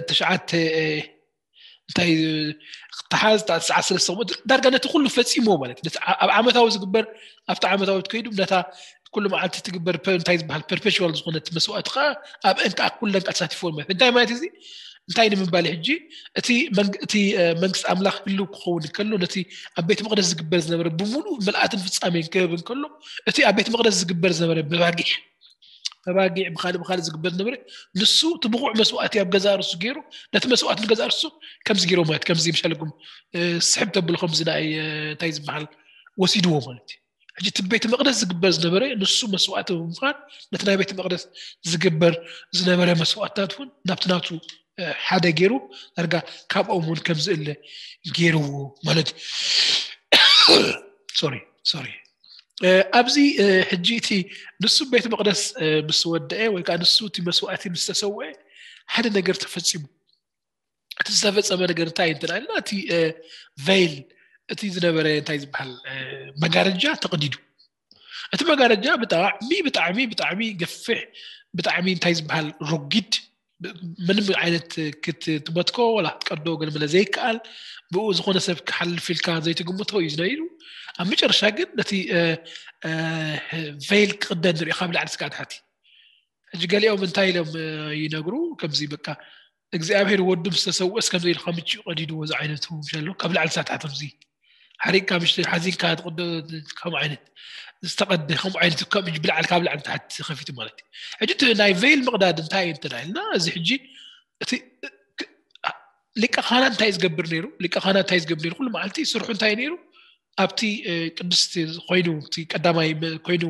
ትሽዓተ እንታይ ተሓዝ ሰዓት ሰለስተ ዳርጋ ነቲ ኩሉ ፈፂሞ ማለት ኣብ ዓመታዊ ዝግበር ኣብቲ ዓመታዊ ትከይዱ ነታ ኩሉ መዓልቲ ትግበር እንታይ ዝበሃል ፐርፔሽዋል ዝኾነት መስዋእቲ ከዓ ኣብ እንካ ኩለን ተሳቲፎ ማለት እንታይ ማለት እዚ እንታይ ንምባል ሕጂ እቲ እቲ መንግስቲ ኣምላኽ ህልው ክኸውን ከሎ ነቲ ኣብ ቤት መቅደስ ዝግበር ዝነበረ ብምሉእ ምልኣትን ፍጻሜን ክህብ ከሎ እቲ ኣብ ቤት መቅደስ ዝግበር ዝነበረ ብባጊዕ ብባጊዕ ብካልእ ብካልእ ዝግበር ዝነበረ ንሱ እቲ ብቑዕ መስዋእቲ ኣብ ገዛ ርሱ ገይሩ ነቲ መስዋእቲ ንገዛ ርሱ ከምዚ ገይሮ ማለት ከምዚ ምሻልኩም ስሕብ ተብሎ ከምዚ ናይ እንታይ ዝበሃል ወሲድዎ ማለት እዩ። ሕጂ እቲ ቤተ መቅደስ ዝግበር ዝነበረ ንሱ መስዋእቲ ብምዃን ነቲ ናይ ቤተ መቅደስ ዝግበር ዝነበረ መስዋእትታት እውን ናብቲ ናቱ ሓደ ገይሩ ዳርጋ ካብኦም እውን ከምዝእለ ገይርዎ ማለት እዩ። ሶሪ ሶሪ ኣብዚ ሕጂ እቲ ንሱ ቤተ መቅደስ ምስ ወደአ ወይ ከዓ ንሱ እቲ መስዋእቲ ምስ ተሰውአ ሓደ ነገር ተፈፂሙ። እቲ ዝተፈፀመ ነገር እንታይ እንትና ኢልና እቲ ቬይል እቲ ዝነበረ እንታይ ዝበሃል መጋረጃ ተቐዲዱ። እቲ መጋረጃ ብጣዕሚ ብጣዕሚ ብጣዕሚ ገፍሕ ብጣዕሚ እንታይ ዝበሃል ረጊድ ምንም ዓይነት ክትመትኮ ወላ ክትቀዶ ገለመለ ዘይከኣል ብኡ ዝኾነ ሰብ ክሓልፍ ኢልካ ዘይትግምቶ እዩ ዝነይሩ። ኣብ መጨረሻ ግን ነቲ ቬይል ክቕደድ ንሪኦ ካብ ላዕሊ ስጋዕ ታሕቲ። ሕጂ ገሊኦም እንታይ ኢሎም ይነግሩ ከምዚ በቃ እግዚኣብሔር ወዱ ምስ ተሰውእስ ከምዚ ኢሉ ከምጭ ቀዲድዎ እዚ ዓይነቱ ዘሎ ካብ ላዕሊ ሳታት ከምዚ ሓሪቅካ ምሽ ሓዚንካ ትቕዶ ከም ዓይነት ዝተቐደ ከም ዓይነት ከም ብላዕሊ ካብ ላዕሊ ታሕቲ ከፊቱ ማለት እዩ። ሕጂ እቲ ናይ ቬይል ምቕዳድ እንታይ እዩ እንተዳ ኢልና እዚ ሕጂ እቲ ሊቀ ካህናት እንታይ ዝገብር ነይሩ? ሊቀ ካህናት እንታይ ዝገብር ነይሩ? ኩሉ መዓልቲ ስርሑ እንታይ ነይሩ? ኣብቲ ቅድስቲ ኮይኑ እቲ ቀዳማይ ኮይኑ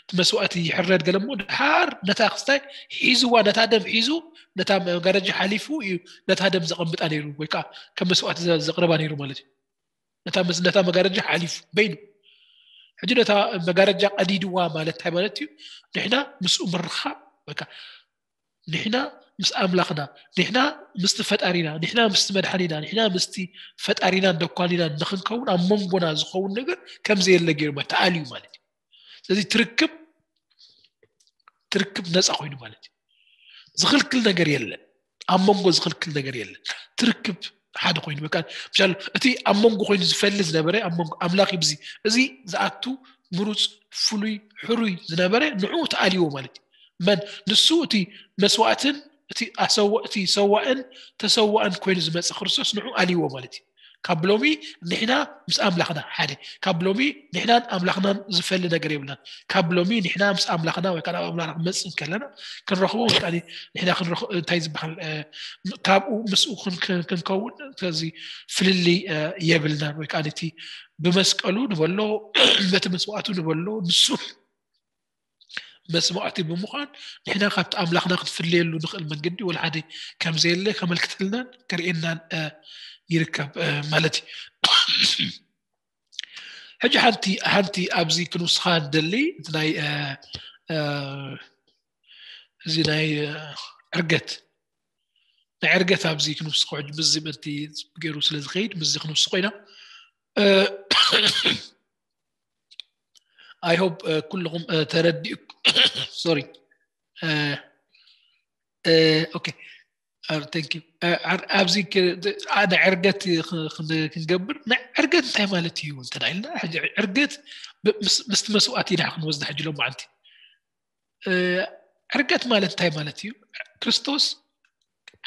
እቲ መስዋእቲ ይሕረድ ገለ እሞ ድሓር ነታ ክስታይ ሒዝዋ ነታ ደም ሒዙ ነታ መጋረጃ ሓሊፉ እዩ ነታ ደም ዘቐምጣ ነይሩ ወይ ከዓ ከም መስዋእቲ ዘቕርባ ነይሩ ማለት እዩ። ነታ መጋረጃ ሓሊፉ በይኑ ሕጂ ነታ መጋረጃ ቀዲድዋ ማለት እንታይ ማለት እዩ? ንሕና ምስኡ ምርኻብ ወይ ከዓ ንሕና ምስ ኣምላኽና ንሕና ምስቲ ፈጣሪና ንሕና ምስቲ መድሓኒና ንሕና ምስቲ ፈጣሪናን ደኳኒናን ንክንከውን ኣብ መንጎና ዝኸውን ነገር ከም ዘየለ ገይሩ ተኣልዩ ማለት እዩ። ስለዚ ትርክብ ትርክብ ነፃ ኮይኑ ማለት እዩ። ዝኽልክል ነገር የለን። ኣብ መንጎ ዝኽልክል ነገር የለን። ትርክብ ሓደ ኮይኑ በቃ ምሻል እቲ ኣብ መንጎ ኮይኑ ዝፈሊ ዝነበረ ኣብ መንጎ ኣምላኽ ይብዚ እዚ ዝኣቱ ምሩፅ ፍሉይ ሕሩይ ዝነበረ ንዑ ተኣልይዎ ማለት እዩ። መን ንሱ እቲ መስዋእትን እቲ ኣሰወ እቲ ሰዋእን ተሰዋእን ኮይኑ ዝመፀ ክርስቶስ ንዑ ኣልይዎ ማለት እዩ። ካብ ሎሚ ንሕና ምስ ኣምላኽና ሓደ ካብ ሎሚ ንሕናን ኣምላኽናን ዝፈሊ ነገር የብልናን። ካብ ሎሚ ንሕና ምስ ኣምላኽና ወይ ከዓ ናብ ኣምላኽና ክመፅእ ከለና ክንረኽቦ ወይ ከዓ ንሕና ክንረኽ እንታይ ዝበሃል ካብኡ ምስኡ ክንከውን ከዚ ፍልልይ የብልናን ወይ ከዓ ነቲ ብመስቀሉ ንበሎ በቲ መስዋእቱ ንበሎ ንሱ መስዋእቲ ብምዃን ንሕና ካብቲ ኣምላኽና ክትፍለየሉ ንኽእል መንገዲ ወላ ሓደ ከም ዘየለ ከመልክተልናን ከርእየናን ይርከብ ማለት እዩ። ሕጂ ሓንቲ ሓንቲ ኣብዚ ክንውስኻ ንደሊ እቲ ናይ እዚ ናይ ዕርገት ናይ ዕርገት ኣብዚ ክንውስኾ ሕጂ ምስዚ ምእንቲ ገይሩ ስለ ዝኸይድ ምስዚ ክንውስኾ ኢና። I hope ኩልኹም ተረዲኡ sorry okay ኣብዚ ናይ ዕርገት ክንገብር ናይ ዕርገት እንታይ ማለት እዩ እንተ ኢልና፣ ዕርገት ምስቲ መስዋእቲ ኢና ክንወስዳ ሕጂ ሎማዓንቲ። ዕርገት ማለት እንታይ ማለት እዩ? ክርስቶስ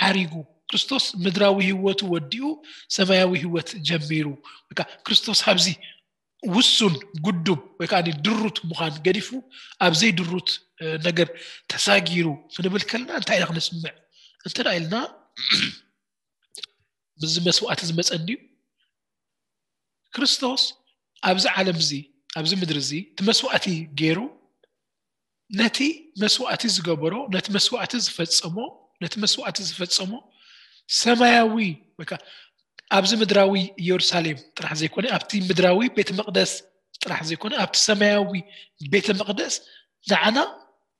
ዓሪጉ፣ ክርስቶስ ምድራዊ ህይወቱ ወዲኡ ሰማያዊ ህይወት ጀሚሩ። በቃ ክርስቶስ ኣብዚ ውሱን፣ ጉዱብ ወይ ከዓ ድሩት ምዃን ገዲፉ ኣብ ዘይድሩት ነገር ተሳጊሩ ክንብል ከለና እንታይ ኢና ክነስምዕ? እንተ ኢልና ምስዚ መስዋእቲ ዝመፀ እንድዩ። ክርስቶስ ኣብዚ ዓለም እዚ፣ ኣብዚ ምድሪ እዚ እቲ መስዋእቲ ገይሩ፣ ነቲ መስዋእቲ ዝገበሮ፣ ነቲ መስዋእቲ ዝፈጸሞ፣ ነቲ መስዋእቲ ዝፈጸሞ ሰማያዊ ወይ ከዓ ኣብዚ ምድራዊ ኢየሩሳሌም ጥራሕ ዘይኮነ፣ ኣብቲ ምድራዊ ቤተ መቕደስ ጥራሕ ዘይኮነ፣ ኣብቲ ሰማያዊ ቤተ መቕደስ ንዓና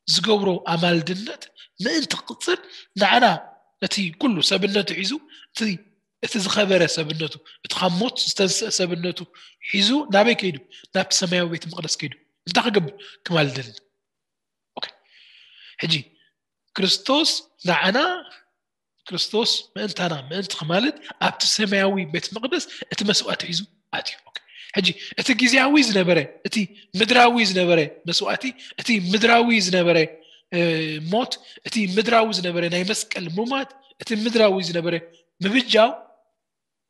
ዝገብሮ ኣማልድነት ምእንቲ ክቕጽል፣ ንዓና ነቲ ኩሉ ሰብነቱ ሒዙ፣ እቲ እቲ ዝኸበረ ሰብነቱ፣ እቲ ካብ ሞት ዝተንስአ ሰብነቱ ሒዙ ናበይ ከይዱ? ናብቲ ሰማያዊ ቤተ መቕደስ ከይዱ። እንታይ ክገብር? ክማልደልና። ሕጂ ክርስቶስ ንዓና፣ ክርስቶስ ምእንታና ምእንቲ ክማልድ ኣብቲ ሰማያዊ ቤት መቕደስ እቲ መስዋእቲ ሒዙ ኣትዩ። ሕጂ እቲ ግዜያዊ ዝነበረ፣ እቲ ምድራዊ ዝነበረ መስዋእቲ፣ እቲ ምድራዊ ዝነበረ ሞት፣ እቲ ምድራዊ ዝነበረ ናይ መስቀል ሙማት፣ እቲ ምድራዊ ዝነበረ ምብጃው፣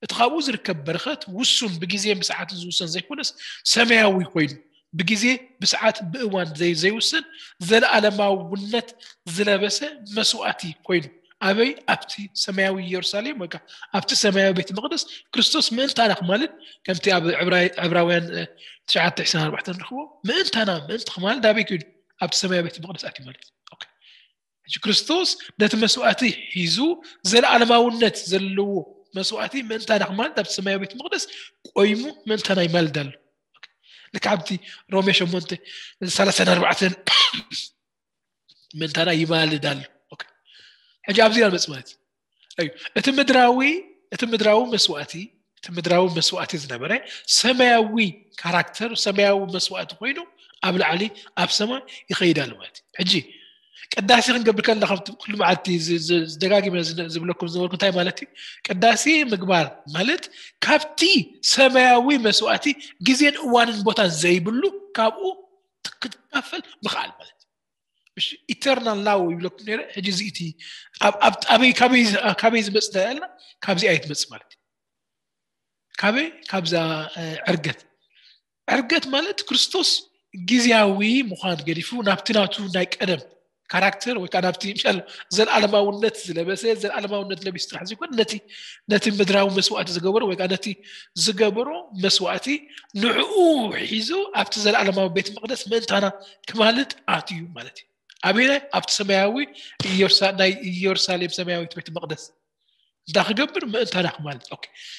እቲ ካብኡ ዝርከብ በረኸት ውሱን፣ ብግዜ ብሰዓት ዝውሰን ዘይኮነስ ሰማያዊ ኮይኑ፣ ብግዜ ብሰዓት ብእዋን ዘይውሰን ዘለኣለማውነት ዝለበሰ መስዋእቲ ኮይኑ፣ ኣበይ? ኣብቲ ሰማያዊ ኢየሩሳሌም ወይ ኣብቲ ሰማያዊ ቤት መቕደስ ክርስቶስ ምእንታና ክማልድ፣ ከምቲ ኣብ ዕብራውያን ትሽዓተ ዕስራን ኣርባዕተን ንረኽቦ፣ ምእንታና ምእንቲ ክማልድ ኣበይ ከይዱ? ኣብቲ ሰማያዊ ቤት መቕደስ ኣትዩ ማለት እዩ። ሕጂ ክርስቶስ ነቲ መስዋእቲ ሒዙ ዘለኣለማውነት ዘለዎ መስዋእቲ ምእንታና ክማልድ ኣብቲ ሰማያዊ ቤት መቕደስ ቆይሙ ምእንታና ይማልድ ኣሎ። ልክዕ ኣብቲ ሮሜ ሸሞንተ ሰላሳን ኣርባዕተን ምእንታና ይማልድ ኣሎ። ሕጂ ኣብዚ ኢና ንመጽእ ማለት እዩ። እቲ ምድራዊ፣ እቲ ምድራዊ መስዋእቲ፣ እቲ ምድራዊ መስዋእቲ ዝነበረ ሰማያዊ ካራክተር፣ ሰማያዊ መስዋእቲ ኮይኑ ኣብ ላዕሊ ኣብ ሰማይ ይኸይድ ኣሎ ማለት እዩ። ሕጂ ቅዳሴ ክንገብር ከለና፣ ከምቲ ኩሉ መዓልቲ ደጋጊመ ዝብለኩም ዝነበርኩ እንታይ ማለት እዩ? ቅዳሴ ምግባር ማለት ካብቲ ሰማያዊ መስዋእቲ ግዜን እዋንን ቦታን ዘይብሉ ካብኡ ክትካፈል ምኽኣል ማለት እዩ። ኢተርናል ላው ይብለኩም ነረ። ሕጂ እዚ እቲ ካበይ ዝመፅ ያልና ካብዚ ኣይትመፅ ማለት እዩ። ካበይ? ካብዛ ዕርገት። ዕርገት ማለት ክርስቶስ ግዜያዊ ምዃን ገዲፉ ናብቲ ናቱ ናይ ቀደም ካራክተር ወይ ከዓ ናብቲ ምሻል ዘለኣለማውነት ዝለበሰ፣ ዘለኣለማውነት ለቢሱ ጥራሕ ዘይኮነ፣ ነቲ ነቲ ምድራዊ መስዋእቲ ዝገበሮ ወይ ከዓ ነቲ ዝገበሮ መስዋእቲ ንዕኡ ሒዙ ኣብቲ ዘለኣለማዊ ቤት መቕደስ ምእንታና ክማልድ ኣትዩ ማለት እዩ። ኣበይናይ? ኣብቲ ሰማያዊ ናይ ኢየሩሳሌም ሰማያዊት ቤት መቕደስ እንዳ ክገብር ምእንታና ክማልድ።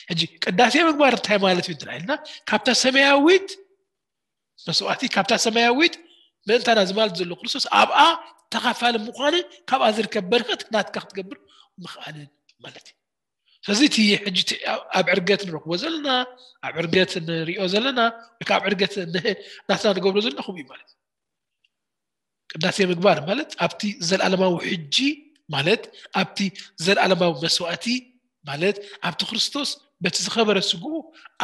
ሕጂ ቅዳሴ ምግባር እንታይ ማለት እዩ እንትና ኢልና፣ ካብታ ሰማያዊት መስዋእቲ፣ ካብታ ሰማያዊት ምእንታና ዝማልድ ዘሎ ክርስቶስ ኣብኣ ተኻፋሊ ምዃንን ካብኣ ዝርከብ በረኸት ናትካ ክትገብር ምኽኣልን ማለት እዩ። ስለዚ እቲ ሕጂ ኣብ ዕርገት ንረክቦ ዘለና፣ ኣብ ዕርገት ንሪኦ ዘለና ወይ ከዓ ኣብ ዕርገት ናትና ንገብሮ ዘለና ከምኡ እዩ ማለት እዩ። ቅዳሴ ምግባር ማለት ኣብቲ ዘለኣለማዊ ሕጂ ማለት ኣብቲ ዘለኣለማዊ መስዋእቲ ማለት ኣብቲ ክርስቶስ በቲ ዝኸበረ ስግኡ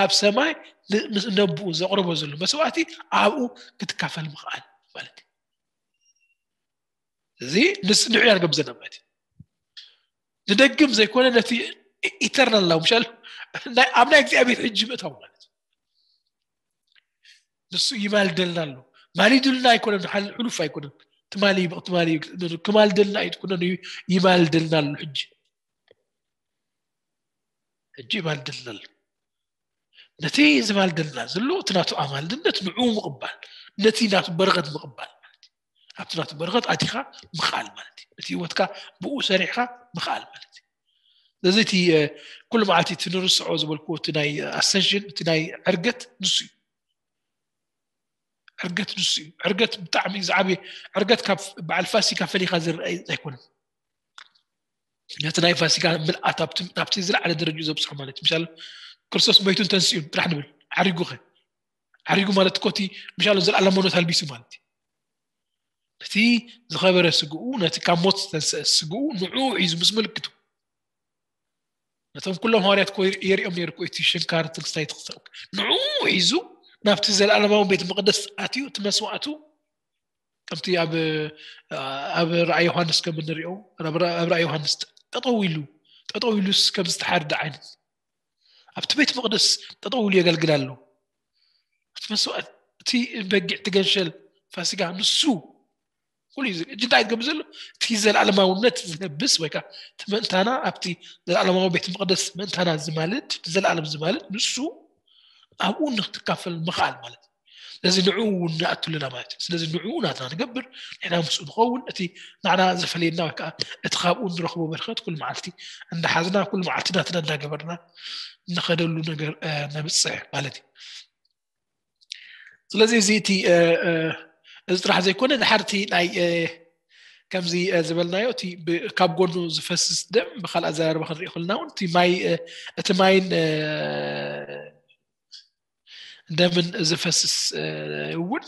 ኣብ ሰማይ ምስ ነብኡ ዘቕርቦ ዘሎ መስዋእቲ ኣብኡ ክትካፈል ምኽኣል ማለት እዩ። እዚ ንስ ንዑ ያርገብ ዘለና ማለት እዩ። ንደግም ዘይኮነ ነቲ ኢተርናል ላው ምሻል ኣብ ናይ እግዚኣብሔር ሕጂ ምእታው ማለት እዩ። ንሱ ይማልደልና ኣሎ። ማሊዱልና ኣይኮነን፣ ሕሉፍ ኣይኮነን። ትማሊ ትማሊ ክማልደልና ኣይትኩነን፣ ይማልደልና ኣሎ። ሕጂ ሕጂ ይማልደልና ኣሎ። ነቲ ዝማልደልና ዘሎ እቲ ናቱ ኣማልድነት ንዕኡ ምቕባል፣ ነቲ ናቱ በረኸት ምቕባል ማለት እዩ። ኣብቲ ናቱ በረኸት ኣቲኻ ምኽኣል ማለት እዩ። ነቲ ህይወትካ ብኡ ሰሪሕካ ምኽኣል ማለት እዩ። ስለዚ እቲ ኩሉ መዓልቲ እቲ ንርስዖ ዝበልኩዎ እቲ ናይ ኣሰንሽን እቲ ናይ ዕርገት ንሱ እዩ። ዕርገት ንሱ እዩ። ዕርገት ብጣዕሚ ዝዓበየ ዕርገት ካብ በዓል ፋሲካ ፈሊኻ ዝረኣይ ኣይኮነን። ነቲ ናይ ፋሲካ ምልኣት ናብቲ ዝለዓለ ደረጃ ዘብፅሖ ማለት እዩ። ምሻል ክርስቶስ መይቱን ተንስኡን ጥራሕ ንብል። ዓሪጉኸ? ዓሪጉ ማለት እኮ እቲ ምሻል ዘለኣለማውነት ኣልቢሱ ማለት እዩ። እቲ ዝኸበረ ስግኡ፣ ነቲ ካብ ሞት ዝተንስአ ስግኡ ንዕኡ ሒዙ ምስ ምልክቱ ነቶም ኩሎም ሃዋርያት እኮ የር- የርእዮም ነይሩ እኮ እቲ ሽንካር ትንስታይ ትኽሰብ ንዑ ሒዙ ናብቲ ዘለኣለማዊ ቤት መቅደስ ኣትዩ እቲ መስዋዕቱ ከምቲ ኣብ ኣብ ራእይ ዮሃንስ ከም እንሪኦ ኣብ ራ- ኣብ ራእይ ዮሃንስ ጠጠው ኢሉ ጠጠው ኢሉስ ከም ዝተሓርደ ዓይነት ኣብቲ ቤት መቅደስ ጠጠው ኢሉ የገልግል ኣሎ። እቲ መስዋዕት እቲ በጊዕ ትገንሸል ፋሲጋ ንሱ ኩሉ እዩ እዚ እንታይ ትገብር ዘሎ እቲ ዘለኣለማውነት ዝለብስ ወይ ከዓ እቲ ምእንታና ኣብቲ ዘለኣለማዊ ቤት መቅደስ ምእንታና ዝማልድ ዘለኣለም ዝማልድ ንሱ ኣብኡ ንክትካፈል ምኽኣል ማለት እዩ። ስለዚ ንዕኡ እውን ንኣቱ ኣለና ማለት እዩ። ስለዚ ንዕኡ ናትና ንገብር ንሕና ምስኡ ንኸውን እቲ ንዓና ዝፈለየና ወይ ከዓ እቲ ካብኡ ንረኽቦ በረኸት ኩሉ መዓልቲ እንዳሓዝና ኩሉ መዓልቲ ናትና እንዳገበርና ንኸደሉ ነገር ነብፅሕ ማለት እዩ። ስለዚ እዚ እቲ እዚ ጥራሕ ዘይኮነ ድሓርቲ ናይ ከምዚ ዝበልናዮ እቲ ካብ ጎኑ ዝፈስስ ደም ብካልእ ኣዘራርባ ክንሪኦ ከለና እውን እቲ ማይ እቲ ማይን ደምን ዝፈስስ እውን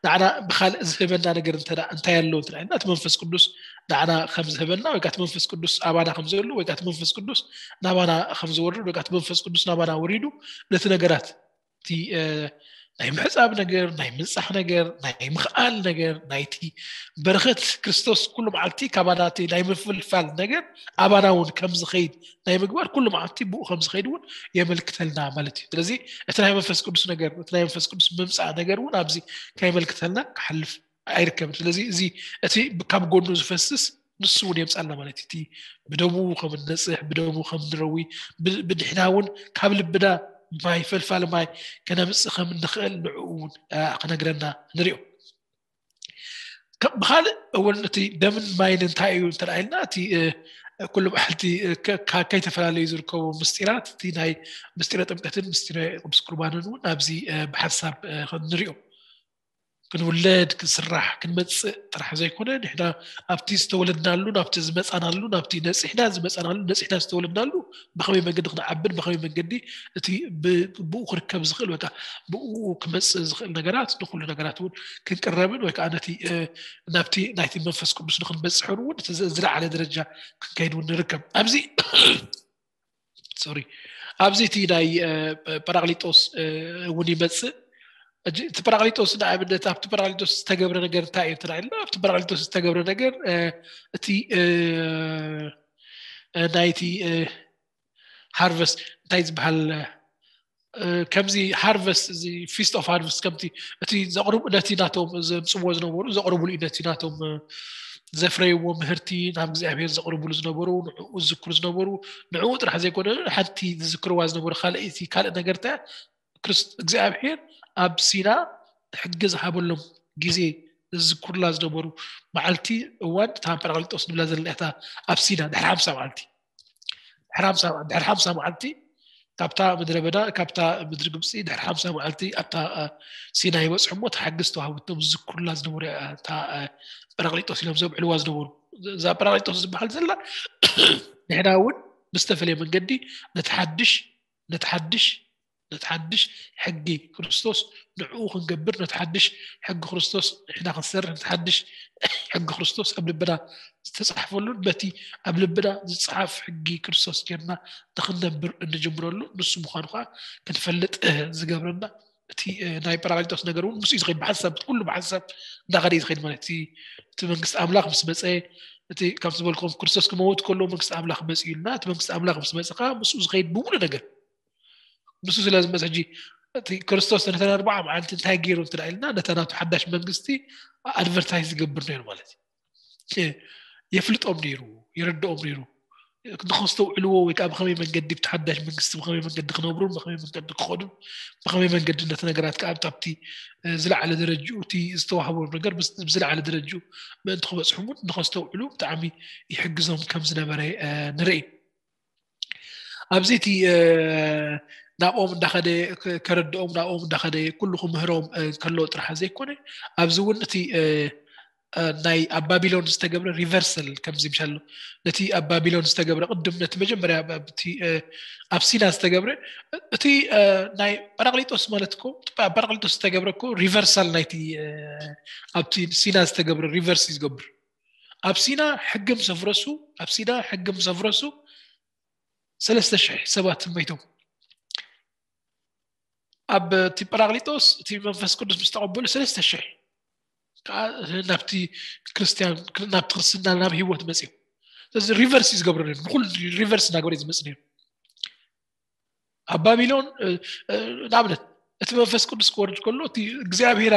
ንዓና ብካልእ ዝህበና ነገር እንታይ ኣለዎ እንተና እቲ መንፈስ ቅዱስ ንዓና ከም ዝህበና ወይ እቲ መንፈስ ቅዱስ ኣባና ከም ዘሎ ወይ እቲ መንፈስ ቅዱስ ናባና ከም ዝወርድ ወይ እቲ መንፈስ ቅዱስ ናባና ወሪዱ ነቲ ነገራት እቲ ናይ ምሕፃብ ነገር ናይ ምንፃሕ ነገር ናይ ምኽኣል ነገር ናይቲ በረኸት ክርስቶስ ኩሉ መዓልቲ ካባና እቲ ናይ ምፍልፋል ነገር ኣባና እውን ከም ዝኸይድ ናይ ምግባር ኩሉ መዓልቲ ብኡ ከም ዝኸይድ እውን የመልክተልና ማለት እዩ። ስለዚ እቲ ናይ መንፈስ ቅዱስ ነገር እቲ ናይ መንፈስ ቅዱስ ምምፃእ ነገር እውን ኣብዚ ከየመልክተልና ክሓልፍ ኣይርከብን። ስለዚ እዚ እቲ ካብ ጎኑ ዝፈስስ ንሱ እውን የምፃልና ማለት እዩ። እቲ ብደሙ ከም ንነፅሕ ብደሙ ከም ንረዊ ብድሕና እውን ካብ ልብና ማይ ፈልፋል ማይ ከነምፅእ ከም እንኽእል ንዕኡ እውን ክነግረና ንሪኦ። ብካልእ እውን እቲ ደምን ማይን እንታይ እዩ እንተኢልና እቲ ኩሉ መዓልቲ ከይተፈላለዩ ዝርከቡ ምስጢራት እቲ ናይ ምስጢረ ጥምቀትን ምስጢረ ቅዱስ ቁርባንን እውን ኣብዚ ብሓንሳብ ንሪኦ። ክንውለድ ክንስራሕ ክንመፅእ ጥራሕ ዘይኮነ ንሕና ኣብቲ ዝተወለድናሉ ናብቲ ዝመፃናሉ ናብቲ ነፂሕና ዝመፃናሉ ነፂሕና ዝተወለድናሉ ብከመይ መንገዲ ክንዓብን ብከመይ መንገዲ እቲ ብኡ ክርከብ ዝኽእል ወይ ብኡ ክመፅእ ዝኽእል ነገራት ንኩሉ ነገራት እውን ክንቅረብን ወይ ከዓ ነቲ ናብቲ ናይቲ መንፈስ ቅዱስ ንክንበፅሕን እውን ዝለዓለ ደረጃ ክንከይድ እውን ንርከብ ኣብዚ ሶሪ ኣብዚ እቲ ናይ ጳራቅሊጦስ እውን ይመፅእ። እቲ ጳራቅሊጦስ ንኣብነት ኣብቲ ጳራቅሊጦስ ዝተገብረ ነገር እንታይ እዩ ትራኢልና ኣብቲ ጳራቅሊጦስ ዝተገብረ ነገር እቲ ናይቲ ሃርቨስት እንታይ ዝበሃል ከምዚ ሃርቨስት እዚ ፊስት ኦፍ ሃርቨስት ከምቲ እቲ ዘቕርቡ ነቲ ናቶም ዘምፅዎ ዝነበሩ ዘቕርቡሉ እዩ ነቲ ናቶም ዘፍረይዎ ምህርቲ ናብ እግዚኣብሔር ዘቕርቡሉ ዝነበሩ ንዕኡ ዝዝክሩ ዝነበሩ ንዕኡ ጥራሕ ዘይኮነ ሓንቲ ዝዝክርዋ ዝነበሩ ካልእ እቲ ካልእ ነገር እንታይ እግዚኣብሔር ኣብ ሲና ሕጊ ዝሃበሎም ግዜ ዝዝክሩላ ዝነበሩ መዓልቲ እዋን እታ ጳራቅሊጦስ ንብላ ዘለና እታ ኣብ ሲና ድሕሪ ሓምሳ መዓልቲ ድሕሪ ሓምሳ መዓልቲ ካብታ ምድረ በዳ ካብታ ምድሪ ግብፂ ድሕሪ ሓምሳ መዓልቲ ኣብታ ሲና ይበፅሑ እሞ ተሓግዝ ተዋህብቶም ዝዝክሩላ ዝነበሩ እታ ጳራቅሊጦስ ኢሎም ዘብዕልዋ ዝነበሩ እዛ ጳራቅሊጦስ ዝበሃል ዘላ ንሕና እውን ብዝተፈለየ መንገዲ ነቲ ሓድሽ ነቲ ሓድሽ ነቲ ሓድሽ ሕጊ ክርስቶስ ንዕኡ ክንገብር ነቲ ሓድሽ ሕጊ ክርስቶስ ንሕና ክንሰርሕ ነቲ ሓድሽ ሕጊ ክርስቶስ ኣብ ልብና ዝተፃሕፈሉን በቲ ኣብ ልብና ዝፀሓፍ ሕጊ ክርስቶስ ጌርና ንክንነብር እንጅምረሉ ንሱ ምኳኑ ከዓ ክንፈልጥ ዝገብረና እቲ ናይ ጳራቅሊጦስ ነገር እውን ምስ ዝኸይድ ብሓሳብ ኩሉ ብሓሳብ እንዳኸደ ዝኸይድ ማለት እቲ መንግስቲ ኣምላኽ ምስ መፀ እቲ ከም ዝበልኩም ክርስቶስ ክመውት ከሎ መንግስቲ ኣምላኽ መፅኡ ኢልና እቲ መንግስቲ ኣምላኽ ምስ መፀ ከዓ ምስኡ ዝኸይድ ብምሉ ነገር ንሱ ስለ ዝመፅ ሕጂ እቲ ክርስቶስ ነተን ኣርባዓ መዓልቲ እንታይ ገይሩ እንትና ኢልና ነታ ናቱ ሓዳሽ መንግስቲ ኣድቨርታይዝ ዝገብር ነይሩ ማለት እዩ። የፍልጦም ነይሩ፣ የረድኦም ነይሩ። ንኸስተውዕልዎ ወይ ከዓ ብኸመይ መንገዲ ብቲ ሓዳሽ መንግስቲ ብኸመይ መንገዲ ክነብሩን ብኸመይ መንገዲ ክኸዱን ብኸመይ መንገዲ ነቲ ነገራት ከዓ ኣብቲ ዝለዓለ ደረጅኡ እቲ ዝተዋህቦም ነገር ብዝለዓለ ደረጅኡ ምእንቲ ክበፅሑ እውን ንኸስተውዕሉ ብጣዕሚ ይሕግዞም ከም ዝነበረ ንርኢ። ኣብዚ እቲ ናብኦም እንዳኸደ ከረድኦም ናብኦም እንዳኸደ ኩሉ ክምህሮም ከሎ ጥራሕ ዘይኮነ ኣብዚ እውን እቲ ናይ ኣብ ባቢሎን ዝተገብረ ሪቨርሰል ከምዚ ምሻሎ ነቲ ኣብ ባቢሎን ዝተገብረ ቅድም ነቲ መጀመርያ ኣብ ሲና ዝተገብረ እቲ ናይ ጳራቅሊጦስ ማለት እኮ ኣብ ጳራቅሊጦስ ዝተገብረ እኮ ሪቨርሳል ናይቲ ኣብቲ ሲና ዝተገብረ ሪቨርስ እዩ ዝገብር ኣብ ሲና ሕጊ ምስ ኣፍረሱ ኣብ ሲና ሕጊ ምስ ኣፍረሱ ሰለስተ ሽሕ ሰባት መይቶም። ኣብ እቲ ጳራቅሊጦስ እቲ መንፈስ ቅዱስ ምስ ተቐበሉ ሰለስተ ሽሕ ከዓ ናብቲ ክርስትያን ናብቲ ክርስትና ናብ ህይወት መፅኡ። ስለዚ ሪቨርስ እዩ ዝገብረ ነይሩ። ንኩሉ ሪቨርስ እናገበረ እዩ ዝመፅእ ነይሩ። ኣብ ባቢሎን ንኣብነት እቲ መንፈስ ቅዱስ ክወርድ ከሎ እቲ እግዚኣብሔር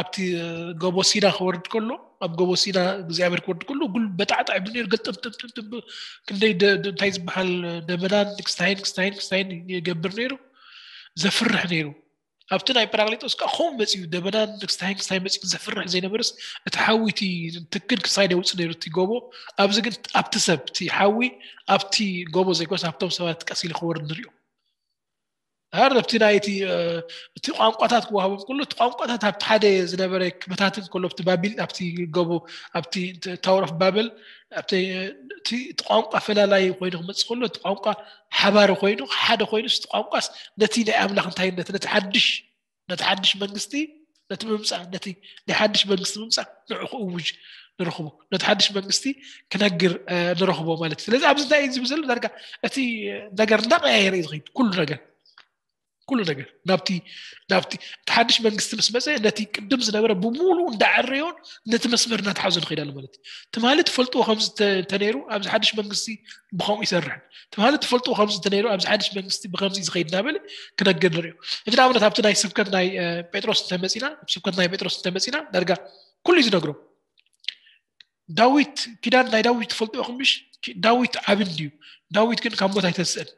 ኣብቲ ጎቦ ሲና ክወርድ ከሎ ኣብ ጎቦ ሲና እግዚኣብሔር ክወርድ ከሎ ጉል በጣዕጣዕ ይብል ነይሩ። ገልጥምጥምጥምጥም ክንደይ እንታይ ዝበሃል ደመናን ክስታይን ክስታይን ክስታይን ይገብር ነይሩ። ዘፍርሕ ነይሩ። ኣብቲ ናይ ጳራቅሊጦስ ከዓ ከምኡ መፅኡ ደመናን ክስታይን ክስታይን መፅኡ ዘፍርሕ ዘይነበርስ እቲ ሓዊ እቲ ትክን ክሳይድ የውፅእ ነይሩ እቲ ጎቦ። ኣብዚ ግን ኣብቲ ሰብ እቲ ሓዊ ኣብቲ ጎቦ ዘይኮነስ ኣብቶም ሰባት ቀስ ኢሉ ክወርድ ንሪኦ። ኣረብቲ ናይቲ እቲ ቋንቋታት ክወሃቦም ከሎ እቲ ቋንቋታት ኣብቲ ሓደ ዝነበረ ክበታትን ከሎ ኣብቲ ባቢል ኣብቲ ጎቦ ኣብቲ ታወር ኦፍ ባብል እቲ ቋንቋ ፈላላይ ኮይኑ ክመፅእ ከሎ እቲ ቋንቋ ሓባሪ ኮይኑ ሓደ ኮይኑ እቲ ቋንቋስ ነቲ ናይ ኣምላኽ እንታይነት ነቲ ሓድሽ ነቲ ሓድሽ መንግስቲ ነቲ ምምፃእ ነቲ ናይ ሓድሽ መንግስቲ ምምፃእ ንዑ ክእውጅ ንረኽቦ ነቲ ሓድሽ መንግስቲ ክነግር ንረኽቦ ማለት እዩ። ስለዚ ኣብዚ እንታይ እዩ ዝብል ዘሎ ዳርጋ እቲ ነገር እንዳቀያየረ እዩ ዝኸይድ ኩሉ ነገር ኩሉ ነገር ናብቲ ናብቲ እቲ ሓድሽ መንግስቲ ምስ መፀ ነቲ ቅድም ዝነበረ ብምሉኡ እንዳዕረዮን ነቲ መስመር እናተሓዞ ንኸይድ ኣሎ ማለት እዩ። ትማሊ ትፈልጥዎ ከምዚ ተነይሩ ኣብዚ ሓድሽ መንግስቲ ብኸምኡ ይሰርሕን ትማሊ ትፈልጥዎ ከምዚ ተነይሩ ኣብዚ ሓድሽ መንግስቲ ብከምዚ ዝኸይድ እናበለ ክነግር ንሪኦ። እዚ ንኣብነት ኣብቲ ናይ ስብከት ናይ ጴጥሮስ እንተመፂና ስብከት ናይ ጴጥሮስ እንተመፂና ዳርጋ ኩሉ እዩ ዝነግሮም። ዳዊት ኪዳን ናይ ዳዊት ትፈልጥዎ ኢኹም ምሽ? ዳዊት ዓቢ እንድዩ። ዳዊት ግን ካብ ሞት ኣይተስእን።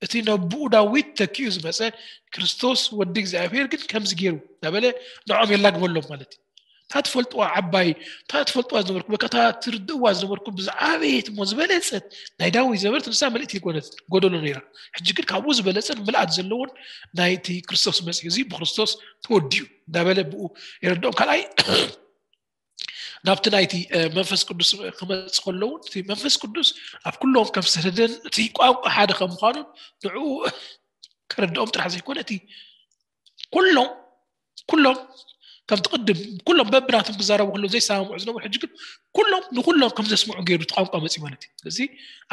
እቲ ነብኡ ዳዊት ተኪኡ ዝመፀ ክርስቶስ ወዲ እግዚኣብሔር ግን ከምዚ ገይሩ እናበለ ንዖም የላግበሎም ማለት እዩ። እታ ትፈልጥዋ ዓባይ እታ ትፈልጥዋ ዝነበርኩም በቃ እታ ትርድእዋ ዝነበርኩም ብዝዓበየት እሞ ዝበለፀት ናይ ዳዊት ዝነበረት ንሳ ምልእቲ ይኮነት ጎደሎ ነይራ። ሕጂ ግን ካብኡ ዝበለፀን ምልኣት ዘለዎን ናይቲ ክርስቶስ መፅኡ እዚ ብክርስቶስ ተወዲኡ እናበለ ብኡ የረድኦም። ካልኣይ ናብቲ ናይቲ መንፈስ ቅዱስ ክመፅ ከለውን እቲ መንፈስ ቅዱስ ኣብ ኩሎም ከም ዝሰደደን እቲ ቋንቋ ሓደ ከም ምዃኑን ንዕኡ ከረድኦም ጥራሕ ዘይኮነ እቲ ኩሎም ኩሎም ከምቲ ቅድም ኩሎም በብናቶም ክዛረቡ ከለዉ ዘይሰማምዑ ዝነበሩ ሕጂ ግን ኩሎም ንኩሎም ከም ዘስምዑ ገይሩ እቲ ቋንቋ መፅኡ ማለት እዩ። ስለዚ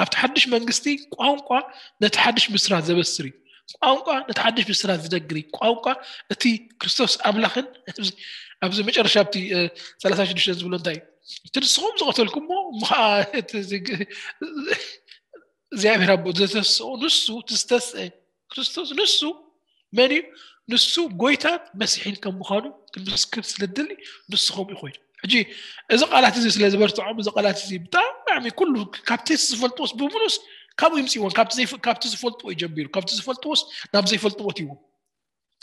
ኣብቲ ሓድሽ መንግስቲ ቋንቋ ነቲ ሓድሽ ምስራት ዘበስር እዩ። ቋንቋ ነቲ ሓድሽ ምስራት ዝነግር እዩ። ቋንቋ እቲ ክርስቶስ ኣምላኽን ኣብዚ መጨረሻ ኣብቲ ሰላሳ ሽዱሽተ ዝብሎ እንታይ እቲ ንስኹም ዝቐተልኩሞ እሞ ከዓ እግዚኣብሔር ኣቦ ዘተስኦ ንሱ ትዝተስአ ክርስቶስ ንሱ መን እዩ? ንሱ ጎይታን መሲሒን ከም ምዃኑ ክንምስክር ስለ ድሊ ንስኹም እዩ ኮይኑ። ሕጂ እዚ ቃላት እዚ ስለ ዝበርትዖም እዚ ቃላት እዚ ብጣዕሚ ኩሉ ካብቲ ዝፈልጥዎስ ብምሉስ ካብኡ ይምፅእዎን ካብቲ ዝፈልጥዎ እዩ ጀሚሩ ካብቲ ዝፈልጥዎስ ናብ ዘይፈልጥዎ ትይዎም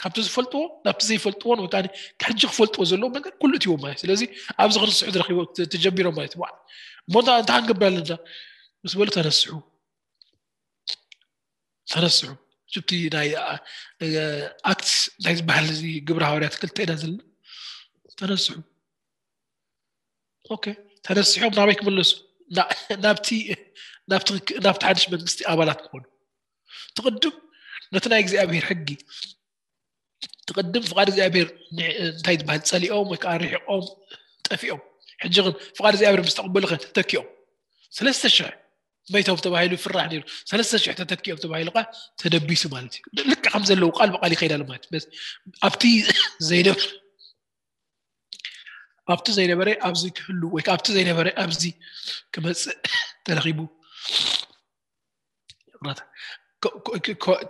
ካብቲ ዝፈልጥዎ ናብቲ ዘይፈልጥዎን ወይ ከዓ ሕጂ ክፈልጥዎ ዘለዎም ነገር ኩሉ እትይዎም ማለት ስለዚ ኣብዚ ክርስሑ ተጀሚሮም ማለት ዋ እሞ እንታይ ክንገብር ኣለና ምስ በሉ ተነስሑ ተነስሑ እቲ ናይ ኣክት ናይ ዝበሃል እዚ ግብረ ሃዋርያት ክልተ ኢና ዘለና ተነስሑ ኦኬ ተነስሖም ናበይ ክምለሱ ናብቲ ናብቲ ሓድሽ መንግስቲ ኣባላት ክኾኑ ትቅድም ነቲ ናይ እግዚኣብሔር ሕጊ ትቅድም ፍቃድ እግዚኣብሔር እንታይ ዝበሃል ፀሊኦም ወይ ከዓ ርሒቆም ጠፊኦም ሕጂ ግን ፍቃድ እግዚኣብሔር ምስ ተቀበሉ ተተኪኦም ሰለስተ ሽሕ መይቶም ተባሂሉ ይፍራሕ ነይሩ ሰለስተ ሽሕ ተተኪኦም ተባሂሉ ቃ ተደቢሱ ማለት እዩ ልክዕ ከም ዘለዉ ቃል ብቃል ይኸይድ ኣሎ ማለት እዩ ኣብቲ ዘይነበረ ኣብቲ ዘይነበረ ኣብዚ ክህሉ ወይ ኣብቲ ዘይነበረ ኣብዚ ክመፅእ ተረኺቡ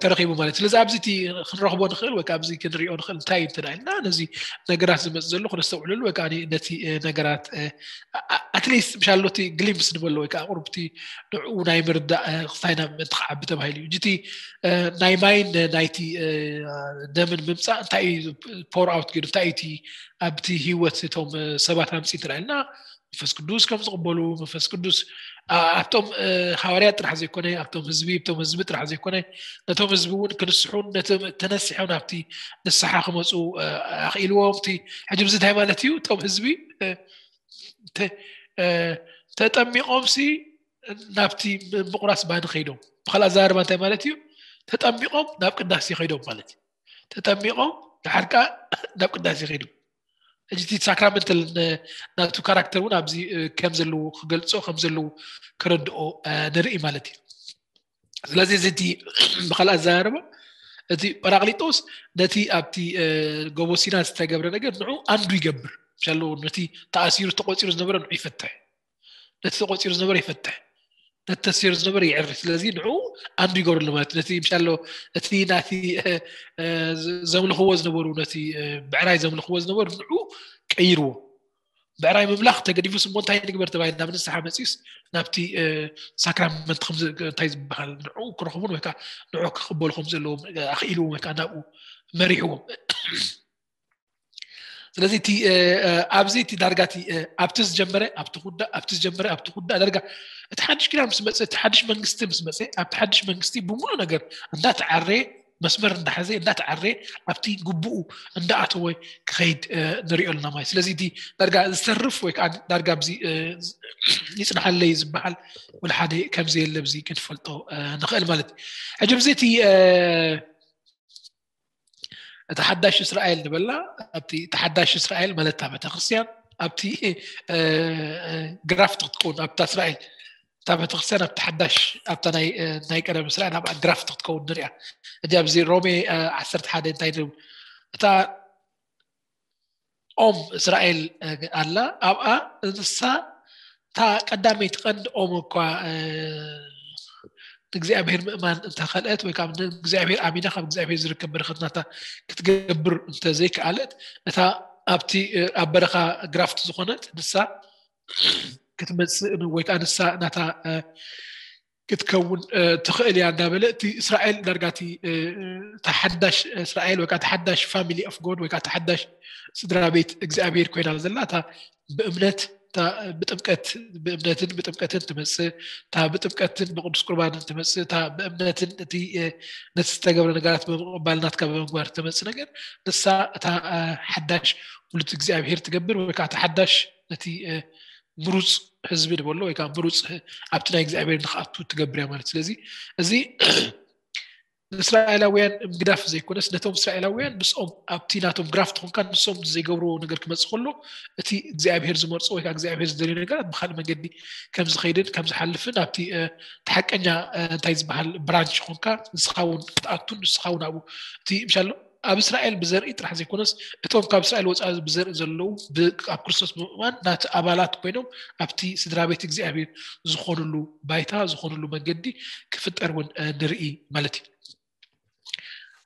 ተረኺቡ ማለት ስለዚ ኣብዚ እቲ ክንረኽቦ ንኽእል ወይ ኣብዚ ክንሪኦ ንኽእል እንታይ እዩ እንተዳ ኢልና ነዚ ነገራት ዝመፅ ዘሎ ክነስተውዕለሉ ወይ ከዓ ነቲ ነገራት ኣትሊስት ምሻሎ እቲ ግሊምስ ንበሎ ወይ ከዓ ቁርብቲ ንዕኡ ናይ ምርዳእ ክስታይ ናብ ምእንቲ ክዓቢ ተባሂሉ እዩ እቲ ናይ ማይን ናይቲ ደምን ምምፃእ እንታይ እዩ ፖር ኣውት ገይሩ እንታይ እቲ ኣብቲ ህይወት እቶም ሰባት ኣምፂ እንተዳ ኢልና መንፈስ ቅዱስ ከም ዝቕበሉ መንፈስ ቅዱስ ኣብቶም ሃዋርያት ጥራሕ ዘይኮነ ኣብቶም ህዝቢ እቶም ህዝቢ ጥራሕ ዘይኮነ ነቶም ህዝቢ እውን ክንስሑን ነቶም ተነሲሖም ናብቲ ንስሓ ክመፁ ኣኽኢልዎም እቲ ሕጂ ብዚ እንታይ ማለት እዩ እቶም ህዝቢ ተጠሚቖም ሲ ናብቲ ምቁራስ ባኒ ከይዶም ብካልእ ኣዘራርባ እንታይ ማለት እዩ ተጠሚቖም ናብ ቅዳሴ ከይዶም ማለት እዩ ተጠሚቖም ድሓር ከዓ ናብ ቅዳሴ ከይዶም ሕጂ እቲ ሳክራመንታል ናቱ ካራክተር እውን ኣብዚ ከም ዘለዉ ክገልፆ ከም ዘለዉ ከረድኦ ንርኢ ማለት እዩ ስለዚ እዚ እቲ ብካልእ ኣዘራርባ እቲ ጳራቅሊጦስ ነቲ ኣብቲ ጎቦ ሲና ዝተገብረ ነገር ንዑ ኣንዱ ይገብር ሻሎ ነቲ ተኣሲሩ ተቆፂሩ ዝነበረ ንዑ ይፈትሕ ነቲ ተቆፂሩ ዝነበረ ይፈትሕ ነቲ ተሲሩ ዝነበረ ይዕሪ ስለዚ ንዑ ኣንዱ ይገብርሉ ማለት ነቲ ምሻሎ እቲ ናቲ ዘምልኽዎ ዝነበሩ ነቲ ብዕራይ ዘምልኽዎ ዝነበሩ ንዑ ቀይርዎ ብዕራይ ምምላኽ ተገዲፉ ስሞ እንታይ ንግበር ተባሂል ናብ ንስሓ መፂኡስ ናብቲ ሳክራመንት እንታይ ዝበሃል ንዑ ክረኽቡን ወይ ከዓ ንዑ ክቕበሉ ከም ዘለዎም ኣኽኢልዎም ወይ ከዓ ናብኡ መሪሕዎም ስለዚ እቲ ኣብዚ እቲ ዳርጋ እቲ ኣብቲ ዝጀመረ ኣብቲ ኩዳ ኣብቲ ዝጀመረ ኣብቲ ኩዳ ዳርጋ እቲ ሓድሽ ኪዳን ምስ መፀ እቲ ሓድሽ መንግስቲ ምስ መፀ ኣብቲ ሓድሽ መንግስቲ ብምሉእ ነገር እንዳተዓረ መስመር እንዳሓዘ እንዳተዓረ ኣብቲ ግቡኡ እንዳኣተወ ክኸይድ ንሪኦ ኣለና ማለት ስለዚ እቲ ዳርጋ ዝተርፍ ወይ ከዓ ዳርጋ ኣብዚ ይፅንሓለይ ዝበሃል ወላ ሓደ ከምዚ የለ ብዚ ክንፈልጦ ንኽእል ማለት እዩ ሕጂ ብዚ እቲ እቲ ሓዳሽ እስራኤል ንበላ ኣብቲ እቲ ሓዳሽ እስራኤል ማለት እታ ቤተክርስትያን ኣብቲ ግራፍት ክትከውን ኣብታ እስራኤል እታ ቤተክርስትያን ኣብቲ ሓዳሽ ኣብታ ናይ ቀደም እስራኤል ኣብ ግራፍት ክትከውን ንሪኣ እዚ ኣብዚ ሮሜ ዓሰርተ ሓደ እንታይ ንብል እታ ኦም እስራኤል ኣላ ኣብኣ እንስሳ እታ ቀዳመይቲ ቀንዲ ኦም እኳ ንእግዚኣብሔር ምእማን እንተኸልአት ወይ ከዓ ንእግዚኣብሔር ኣሚና ካብ እግዚኣብሔር ዝርከብ በረኸት ናታ ክትገብር እንተዘይከኣለት እታ ኣብቲ ኣብ በረኻ ግራፍት ዝኾነት ንሳ ክትመፅእ ወይ ከዓ ንሳ ናታ ክትከውን ትኽእል እያ እንዳበለ እቲ እስራኤል ዳርጋ እቲ ተሓዳሽ እስራኤል ወይ ተሓዳሽ family of God ወይ ተሓዳሽ ስድራ ቤት እግዚኣብሔር ኮይና ዘላ እታ ብእምነት ብጥምቀት ብእምነትን ብጥምቀትን ትመፅእ እታ ብጥምቀትን ብቅዱስ ቁርባንን ትመፅእ እታ ብእምነትን እቲ ነቲ ዝተገብረ ነገራት ብምቕባል ናትካ ብምግባር ትመፅእ ነገር ንሳ እታ ሓዳሽ ውሉድ እግዚኣብሔር ትገብር ወይ ከዓ ሓዳሽ ነቲ ምሩፅ ህዝቢ ንበሎ ወይ ከዓ ምሩፅ ኣብቲ ናይ እግዚኣብሔር ንክኣቱ ትገብር እያ ማለት ስለዚ እዚ ንእስራኤላውያን ምግዳፍ ዘይኮነስ ነቶም እስራኤላውያን ምስኦም ኣብቲ ናቶም ግራፍት ኾንካ ንሶም ዘይገብርዎ ነገር ክመፅእ ከሎ እቲ እግዚኣብሔር ዝመርፆ ወይ እግዚኣብሔር ዝደልዩ ነገራት ብካልእ መንገዲ ከም ዝኸይድን ከም ዝሓልፍን ኣብቲ ተሓቀኛ እንታይ ዝበሃል ብራንች ኾንካ ንስኻውን ክትኣቱን ንስኻውን ኣብኡ እቲ ምሻሎ ኣብ እስራኤል ብዘርኢ ጥራሕ ዘይኮነስ እቶም ካብ እስራኤል ወፃኢ ብዘርኢ ዘለዉ ኣብ ክርስቶስ ብምእማን ናቲ ኣባላት ኮይኖም ኣብቲ ስድራ ቤት እግዚኣብሔር ዝኾኑሉ ባይታ ዝኾኑሉ መንገዲ ክፍጠር እውን ንርኢ ማለት እዩ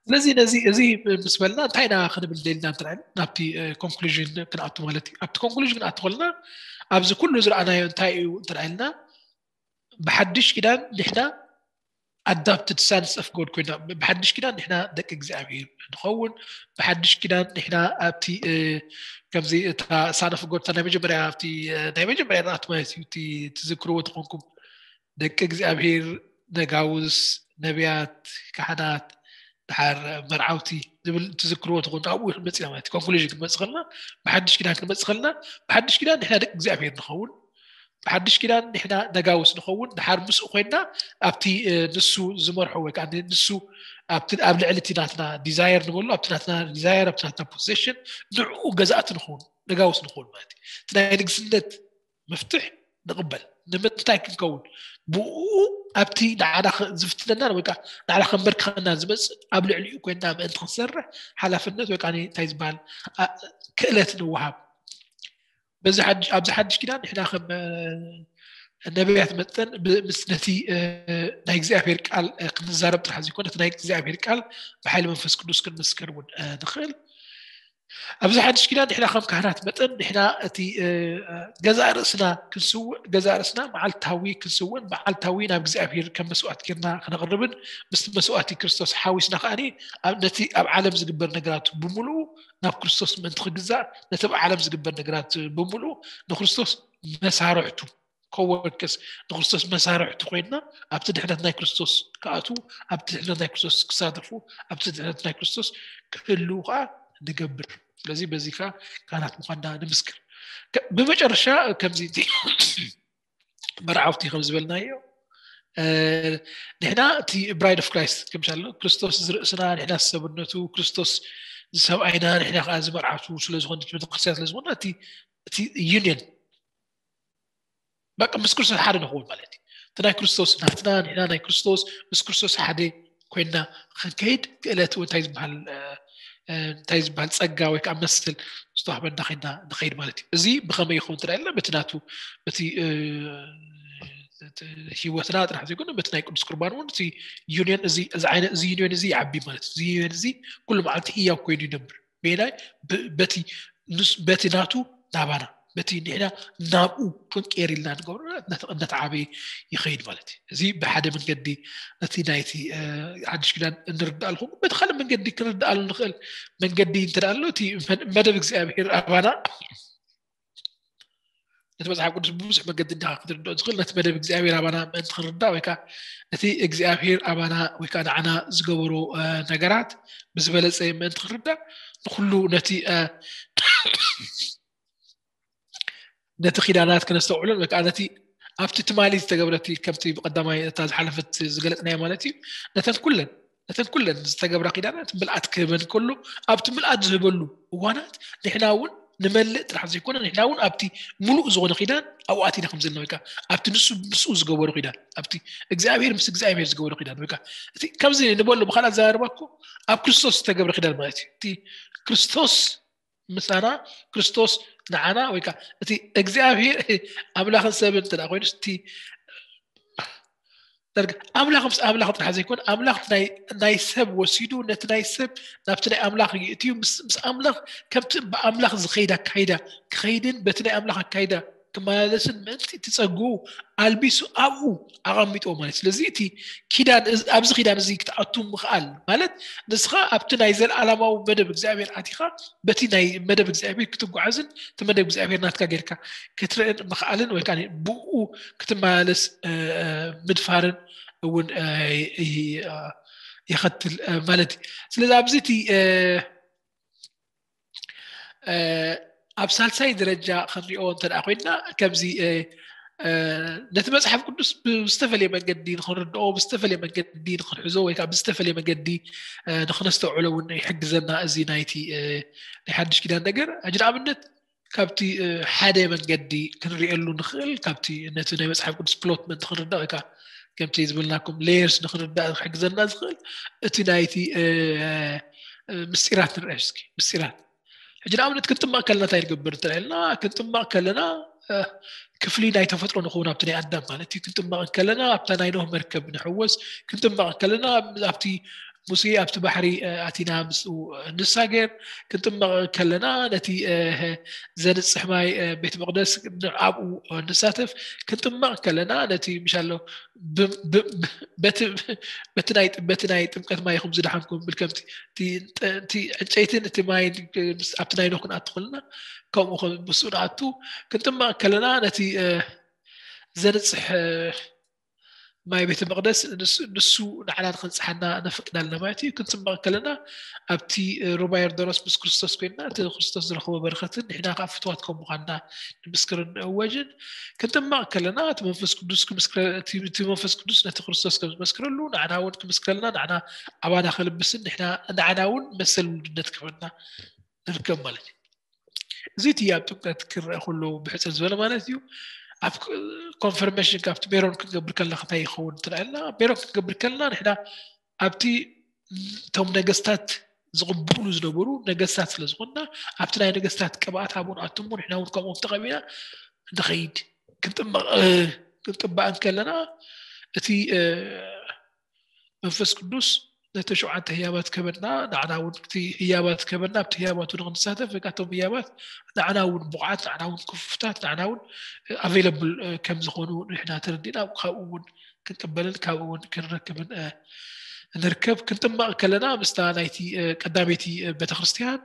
ስለዚ ነዚ እዚ ምስ በልና እንታይ ኢና ክንብል ደልና እንተ ናብቲ ኮንክሉዥን ክንኣቱ ማለት እዩ ኣብቲ ኮንክሉዥን ክንኣቱ ከለና ኣብዚ ኩሉ ዝረኣናዮ እንታይ እዩ እንተ ኢልና ብሓድሽ ኪዳን ንሕና adopted sons of God ኮይና ብሓድሽ ኪዳን ንሕና ደቂ እግዚኣብሔር ንኸውን ብሓድሽ ኪዳን ንሕና ኣብቲ ከምዚ እታ son of God ናይ መጀመርያ ኣብቲ ናይ መጀመርያ ርኣት ማለት እዩ እቲ ትዝክርዎ ተኾንኩም ደቂ እግዚኣብሔር ነጋውስ ነቢያት ካህናት ድሓር መርዓውቲ ዝብል ትዝክርዎ ተኾን ኣብኡ ክንመፅእ ማለት ኮንክሉዥን ክንመፅእ ከልና ብሓድሽ ኪዳን ክንመፅእ ከልና ብሓድሽ ኪዳን ንሕና ደቂ እግዚኣብሔር ንኸውን ብሓድሽ ኪዳን ንሕና ነጋውስ ንኸውን ድሓር ምስኡ ኮይና ኣብቲ ንሱ ዝመርሖ ወይ ከዓ ንሱ ኣብቲ ኣብ ልዕሊ እቲ ናትና ዲዛየር ንበሎ ኣብቲ ናትና ዲዛየር ኣብቲ ናትና ፖሴሽን ንዕኡ ገዛእቲ ንኸውን ነጋውስ ንኸውን ማለት እዩ እቲ ናይ ንግስነት መፍትሕ ንቕበል ንምንታይ ክንከውን ብኡ ኣብቲ ንዓና ዝፍትነና ወይ ከዓ ንዓና ከንበርክኸና ዝመፅእ ኣብ ልዕሊኡ ኮይና ምእንቲ ክንሰርሕ ሓላፍነት ወይ ከዓ እንታይ ዝበሃል ክእለት ንወሃብ በዚ ኣብዚ ሓድሽ ኪዳን ንሕና ከም ነቢያት መጠን ምስ ነቲ ናይ እግዚኣብሔር ቃል ክንዛረብ ጥራሕ ዘይኮነ እቲ ናይ እግዚኣብሔር ቃል ብሓይሊ መንፈስ ቅዱስ ክንምስከር እውን ንኽእል ኣብዚ ሓድሽ ኪዳን ንሕና ከም ካህናት መጠን ንሕና እቲ ገዛእ ርእስና ክንስውእ ገዛእ ርእስና መዓልታዊ ክንስውእን መዓልታዊ ናብ እግዚኣብሔር ከም መስዋዕት ጌርና ክነቕርብን ምስቲ መስዋዕቲ ክርስቶስ ሓዊስና ከዓኒ ነቲ ኣብ ዓለም ዝግበር ነገራት ብምሉኡ ናብ ክርስቶስ ምእንቲ ክግዛእ ነቲ ኣብ ዓለም ዝግበር ነገራት ብምሉኡ ንክርስቶስ መሳርሕቱ ኮወርከስ ንክርስቶስ መሳርሕቱ ኮይንና ኣብቲ ድሕነት ናይ ክርስቶስ ክኣትዉ ኣብቲ ድሕነት ናይ ክርስቶስ ክሳተፉ ኣብቲ ድሕነት ናይ ክርስቶስ ክህልዉ ከዓ ንገብር ስለዚ በዚ ከዓ ካህናት ምኳንና ንምስክር ብመጨረሻ ከምዚ መርዓውቲ ከም ዝበልናዮ ንሕና እቲ bride of Christ ከምሻሎ ክርስቶስ ዝርእስና ንሕና ሰብነቱ ክርስቶስ ዝሰብኣይና ንሕና ከዓ ዝመርዓቱ ስለዝኮነ ቤተክርስትያን ስለዝኮነ እቲ union በቃ ምስ ክርስቶስ ሓደ ንኸውን ማለት እዩ እቲ ናይ ክርስቶስ ናትና ንሕና ናይ ክርስቶስ ምስ ክርስቶስ ሓደ ኮይና ክንከይድ ክእለት እንታይ ዝበሃል እንታይ ዝበሃል ጸጋ ወይ ከዓ መስል ዝተዋህበና ኮይና ንኸይድ ማለት እዩ። እዚ ብኸመይ ይኸውን ትዳ ኢልና በቲ ናቱ በቲ ህይወትና ጥራሕ ዘይኮነ በቲ ናይ ቅዱስ ቁርባን እውን እቲ ዩኒየን እዚ እዚ ዓይነት እዚ ዩኒየን እዚ ይዓቢ ማለት እዩ። እዚ ዩኒየን እዚ ኩሉ መዓልቲ ህያው ኮይኑ ይነብር። በየናይ በቲ ናቱ ናባና በቲ ንሕና ናብኡ ክንቀየር ኢልና ንገብሮ እናተዓበየ ይኸይድ ማለት እዩ። እዚ ብሓደ መንገዲ ነቲ ናይቲ ሓድሽ ኪዳን እንርዳእ ኣለኹ። በቲ ካልእ መንገዲ ክንርዳእ ኣሎ ንኽእል መንገዲ እንተ ኣሎ እቲ መደብ እግዚኣብሔር ኣባና ነቲ መፅሓፍ ቅዱስ ብብዙሕ መገዲ እንዲኻ ክትርድኦ ዝኽእል ነቲ መደብ እግዚኣብሔር ኣባና ምእንቲ ክንርዳእ ወይ ከዓ እቲ እግዚኣብሔር ኣባና ወይ ከዓ ንዓና ዝገበሮ ነገራት ብዝበለፀ ምእንቲ ክንርዳእ ንኩሉ ነቲ ነቲ ኪዳናት ክነስተውዕሎን ወይ ከዓ ነቲ ኣብቲ ትማሊ ዝተገብረቲ ከምቲ ብቀዳማይ እታ ዝሓለፈት ዝገለፅናዮ ማለት እዩ ነተን ኩለን ነተን ኩለን ዝተገብራ ኪዳናት ምልኣት ክህበን ከሎ ኣብቲ ምልኣት ዝህበሉ እዋናት ንሕና እውን ንመልእ ጥራሕ ዘይኮነ ንሕና እውን ኣብቲ ሙሉእ ዝኾነ ኪዳን ኣብኡ ኣቲና ከም ዘለና ወይ ከዓ ኣብቲ ንሱ ምስኡ ዝገበሩ ኪዳን ኣብቲ እግዚኣብሔር ምስ እግዚኣብሔር ዝገበሩ ኪዳን ወይ ከዓ እቲ ከምዚ ንበሎ ብካልእ ኣዘራርባ እኮ ኣብ ክርስቶስ ዝተገብረ ኪዳን ማለት እዩ። እቲ ክርስቶስ ምሳና ክርስቶስ ንዓና ወይ ከዓ እቲ እግዚኣብሔር ኣምላኽን ሰብን እንተ ኮይኑ እቲ ኣምላኽ ምስ ኣምላኽ ጥራሕ ዘይኮነ ኣምላኽ ናይ ሰብ ወሲዱ ነቲ ናይ ሰብ ናብቲ ናይ ኣምላኽ ይእትዩ ምስ ኣምላኽ ከምቲ ብኣምላኽ ዝኸይድ ኣካይዳ ክኸይድን በቲ ናይ ኣምላኽ ኣካይዳ ክመላለስን ምእንቲ እቲ ጸግኡ ኣልቢሱ ኣብኡ ኣቐሚጥዎ ማለት ስለዚ እቲ ኪዳን ኣብዚ ኪዳን እዚ ክትኣቱ ምኽኣል ማለት ንስኻ ኣብቲ ናይ ዘለኣለማዊ መደብ እግዚኣብሔር ኣቲኻ በቲ ናይ መደብ እግዚኣብሔር ክትጓዓዝን እቲ መደብ እግዚኣብሔር ናትካ ጌርካ ክትርእን ምኽኣልን ወይ ከዓ ብኡ ክትመላለስ ምድፋርን እውን ይኸትል ማለት እዩ። ስለዚ ኣብዚ እቲ ኣብ ሳልሳይ ደረጃ ክንሪኦ እንተ ኮይንና ከምዚ ነቲ መፅሓፍ ቅዱስ ብዝተፈለየ መንገዲ ንክንርድኦ ብዝተፈለየ መንገዲ ንክንሕዞ ወይ ከዓ ብዝተፈለየ መንገዲ ንክነስተውዕሎ እውን ይሕግዘና እዚ ናይቲ ናይ ሓድሽ ኪዳን ነገር ሕጂ ንኣብነት ካብቲ ሓደ መንገዲ ክንሪኤሉ ንኽእል ካብቲ ነቲ ናይ መፅሓፍ ቅዱስ ፕሎት ምእንቲ ክንርዳእ ወይ ከዓ ከምቲ ዝበልናኩም ሌየርስ ንክንርዳእ ክሕግዘና ዝኽእል እቲ ናይቲ ምስጢራት ንርአ እስኪ ምስጢራት ሕጂ ንኣብነት ክንጥመቕ ከለና እንታይ ንገብር እንተልና ክንጥመቕ ከለና ክፍሊ ናይ ተፈጥሮ ንኸውን ኣብቲ ናይ ኣዳም ማለት እዩ ክንጥመቕ ከለና ኣብታ ናይ ኖህ መርከብ ንሕወስ ክንጥመቕ ከለና ኣብቲ ሙሴ ኣብቲ ባሕሪ ኣቲና ምስኡ ንሳገር ክንጥመቕ ከለና ነቲ ዘንፅሕ ማይ ቤት መቅደስ ኣብኡ ንሳተፍ ክንጥመቕ ከለና ነቲ ምሻሎ በቲ ናይ ጥምቀት ማይ ይኹም ዝደሓንኩም ብል ከምቲ እቲ ዕንጨይትን እቲ ማይን ኣብቲ ናይ ኖህ ክንኣቱ ከለና ከምኡ ምስኡ ንኣቱ ክንጥመቕ ከለና ነቲ ዘንፅሕ ማይ ቤተ መቅደስ ንሱ ንዓና ንክንፅሓና ነፍቅዳልና ማለት እዩ ክንፅመቕ ከለና ኣብቲ ሩባ ዮርዳኖስ ምስ ክርስቶስ ኮይንና እቲ ክርስቶስ ዝረኽቦ በረኸትን ንሕና ከዓ ፍትዋት ከም ምኳንና ንምስክርን ንእወጅን ክንጥመቕ ከለና እቲ መንፈስ ቅዱስ እቲ መንፈስ ቅዱስ ነቲ ክርስቶስ ከም ዝመስክረሉ ንዓና እውን ክምስክረልና ንዓና ኣባና ከልብስን ንሕና ንዓና እውን መሰል ውልድነት ክህበና ንርከብ ማለት እዩ እዚ እቲ ኣብ ጥምቀት ክረአ ከሎ ብሕፅር ዝበለ ማለት እዩ ኣብ ኮንፈርሜሽን ካብቲ ሜሮን ክንገብር ከለና እንታይ ይኸውን ትላልና ሜሮን ክንገብር ከለና ንሕና ኣብቲ እቶም ነገስታት ዝቕብሉ ዝነበሩ ነገስታት ስለ ዝኾንና ኣብቲ ናይ ነገስታት ቅብኣት ኣብኡ ንኣትሞ ንሕና እውን ከምኦም ተቐቢና ንኸይድ ክንጥባእ እንከለና እቲ መንፈስ ቅዱስ ነቲ ሸውዓተ ህያባት ከበና ንዓና እውን እቲ ህያባት ከበና ኣብቲ ህያባቱ ንክንሳተፍ ወይ ከዓ እቶም ህያባት ንዓና እውን ብቑዓት ንዓና እውን ክፉታት ንዓና እውን ኣቬለብል ከም ዝኾኑ ንሕና ተረዲእና ካብኡ እውን ክንቅበልን ካብኡ እውን ክንረክብን ንርከብ ክንጥመቕ ከለና ምስታ ናይቲ ቀዳመይቲ ቤተክርስትያን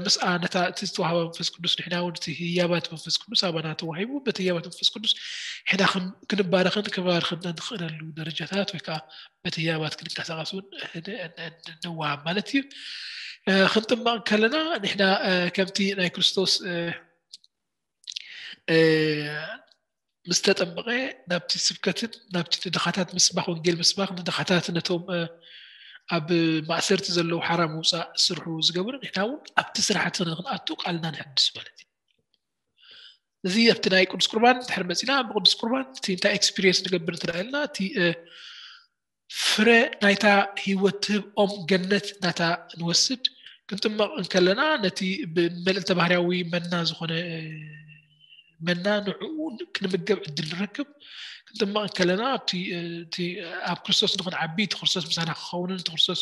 ምስኣ ነታ እቲ ዝተዋህባ መንፈስ ቅዱስ ንሕና እውን እቲ ህያባት መንፈስ ቅዱስ ኣባና ተዋሂቡ በቲ ህያባት መንፈስ ቅዱስ ሕና ክንባረኽን ክባርኽን ንኽእለሉ ደረጃታት ወይ ከዓ በቲ ህያባት ክንቀሳቀስ እውን ንዋሃብ ማለት እዩ ክንጥመቕ ከለና ንሕና ከምቲ ናይ ክርስቶስ ምስ ተጠመቐ ናብቲ ስብከትን ናብቲ ንድኻታት ምስባኽ ወንጌል ምስባኽ ንድኻታት ነቶም ኣብ ማእሰርቲ ዘለዉ ሓራ ምውፃእ ስርሑ ዝገብሩ ንሕና እውን ኣብቲ ስራሕቲ ንክንኣቱ ቃልና ንሕድስ ማለት እዩ እዚ ኣብቲ ናይ ቅዱስ ቁርባን ድሕር መፂና ብቅዱስ ቁርባን እቲ እንታይ experience ንገብር እንተደኣ ኢልና እቲ ፍረ ናይታ ህይወት ትህብ ኦም ገነት ናታ ንወስድ። ክንጥመቕ እንከለና ነቲ ብመልእልተ ባህርያዊ መና ዝኾነ መና ንዕኡ ክንምገብ ዕድል ንረክብ። ክንጥመቕ እንከለና ኣብ ክርስቶስ ንክንዓቢ እቲ ክርስቶስ ምሳና ክኸውንን እቲ ክርስቶስ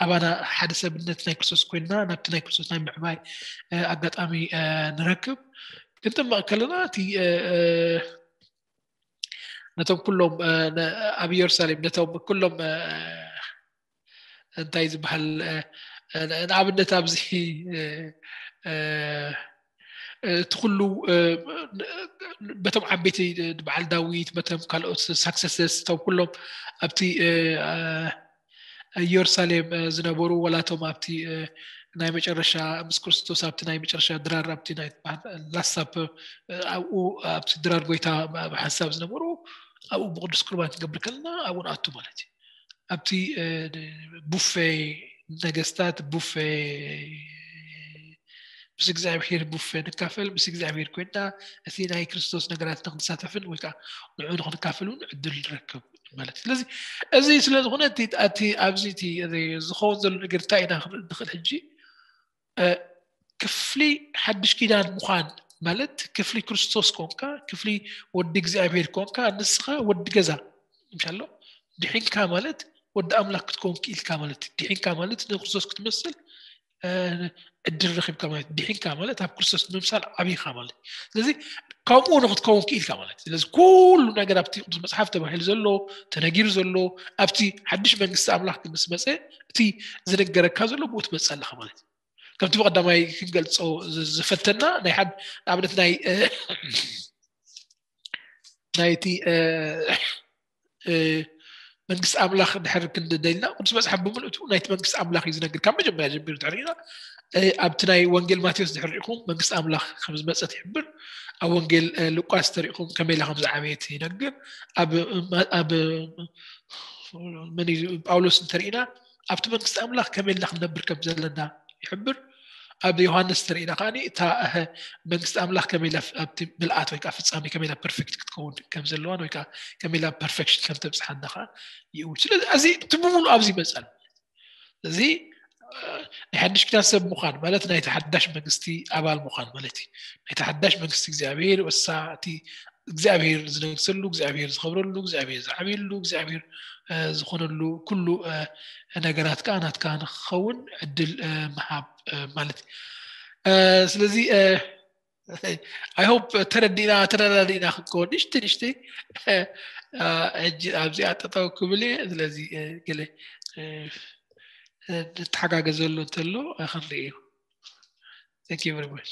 ኣባና ሓደ ሰብነት ናይ ክርስቶስ ኮይንና ናብቲ ናይ ክርስቶስ ናይ ምዕባይ ኣጋጣሚ ንረክብ። ክንጥመቕ ከለና እቲ ነቶም ኩሎም ኣብ ኢየሩሳሌም ነቶም ኩሎም እንታይ ዝበሃል ንኣብነት ኣብዚ እቲ ኩሉ በቶም ዓበይቲ በዓል ዳዊት በቶም ካልኦት successes እቶም ኩሎም ኣብቲ ኢየሩሳሌም ዝነበሩ ወላቶም ኣብቲ ናይ መጨረሻ ምስ ክርስቶስ ኣብቲ ናይ መጨረሻ ድራር ኣብቲ ናይ last supper ኣብኡ ኣብቲ ድራር ጎይታ ብሓንሳብ ዝነበሩ ኣብኡ ብቅዱስ ቁርባን ክንገብር ከለና ኣብኡ ንኣቱ ማለት እዩ። ኣብቲ ቡፌ ነገስታት ቡፌ ምስ እግዚኣብሔር ቡፌ ንካፈል ምስ እግዚኣብሔር ኮይና እቲ ናይ ክርስቶስ ነገራት ንክንሳተፍን ወይ ከዓ ንዑ ንክንካፈል እውን ዕድል ንረክብ ማለት ስለዚ እዚ ስለዝኾነ እቲ ኣብዚ ዝኸውን ዘሎ ነገር እንታይ ኢና ክንርኢ ንኽእል ሕጂ ክፍሊ ሓድሽ ኪዳን ምዃን ማለት ክፍሊ ክርስቶስ ኮንካ ክፍሊ ወዲ እግዚኣብሔር ኮንካ ንስኻ ወዲ ገዛ ምሻሎ ድሒንካ ማለት ወዲ ኣምላክ ክትከውን ክኢልካ ማለት ድሒንካ ማለት ንክርስቶስ ክትመስል ዕድል ረኪብካ ማለት ድሒንካ ማለት ኣብ ክርስቶስ ንምሳል ዓብይካ ማለት ስለዚ ከምኡ ንክትከውን ክኢልካ ማለት ስለዚ ኩሉ ነገር ኣብቲ ቅዱስ መፅሓፍ ተባሂሉ ዘሎ ተነጊሩ ዘሎ ኣብቲ ሓድሽ መንግስቲ ኣምላክ ምስ መፀ እቲ ዝነገረካ ዘሎ ብኡ ትመፅእ ኣለካ ማለት ከምቲ ብቀዳማይ ክንገልፆ ዝፈተና ናይ ሓደ ንኣብነት ናይ ናይቲ መንግስቲ ኣምላኽ ድሕር ክንደልና ቅዱስ መፅሓፍ ብምልእቱ ናይቲ መንግስቲ ኣምላኽ እዩ ዝነግር ካብ መጀመርያ ጀሚሩ ድሕሪና ኣብቲ ናይ ወንጌል ማቴዎስ ድሕር ሪኢኹም መንግስቲ ኣምላኽ ከም ዝመፀት ይሕብር ኣብ ወንጌል ሉቃስ ተሪኢኹም ከመይላ ከም ዝዓበየት ይነግር ኣብ ጳውሎስ እንተሪኢና ኣብቲ መንግስቲ ኣምላኽ ከመይላ ክንነብር ከም ዘለና ይሕብር ኣብ ዮሃንስ ተሪኢና ከዓ እታ መንግስቲ ኣምላኽ ከመይላ ኣብቲ ምልኣት ወይ ከዓ ፍፃሜ ከመይላ ፐርፌክት ክትከውን ከም ዘለዋን ወይ ከዓ ከመይላ ፐርፌክሽን ከም ተብፅሓና ከዓ ይእውል ስለዚ እዚ እቲ ብምሉ ኣብዚ ይመፀል እዚ ናይ ሓድሽ ኪዳን ሰብ ምዃን ማለት ናይቲ ሓዳሽ መንግስቲ ኣባል ምዃን ማለት እዩ ናይቲ ሓዳሽ መንግስቲ እግዚኣብሔር ወሳ እቲ እግዚኣብሔር ዝነግሰሉ እግዚኣብሔር ዝኸብረሉ እግዚኣብሔር ዝዓብየሉ እግዚኣብሔር ዝኾነሉ ኩሉ ነገራት ከዓ ናትካ ንክኸውን ዕድል ምሃብ ማለት እዩ ስለዚ I hope ተረዲና ተረዳዲና ክንከውን ንሽቲ ንሽቲ ሕጂ ኣብዚኣ ጠጠው ክብል እየ ስለዚ ገለ ንተሓጋገዘሉ እንተሎ ክንርኢ እዩ Thank you very much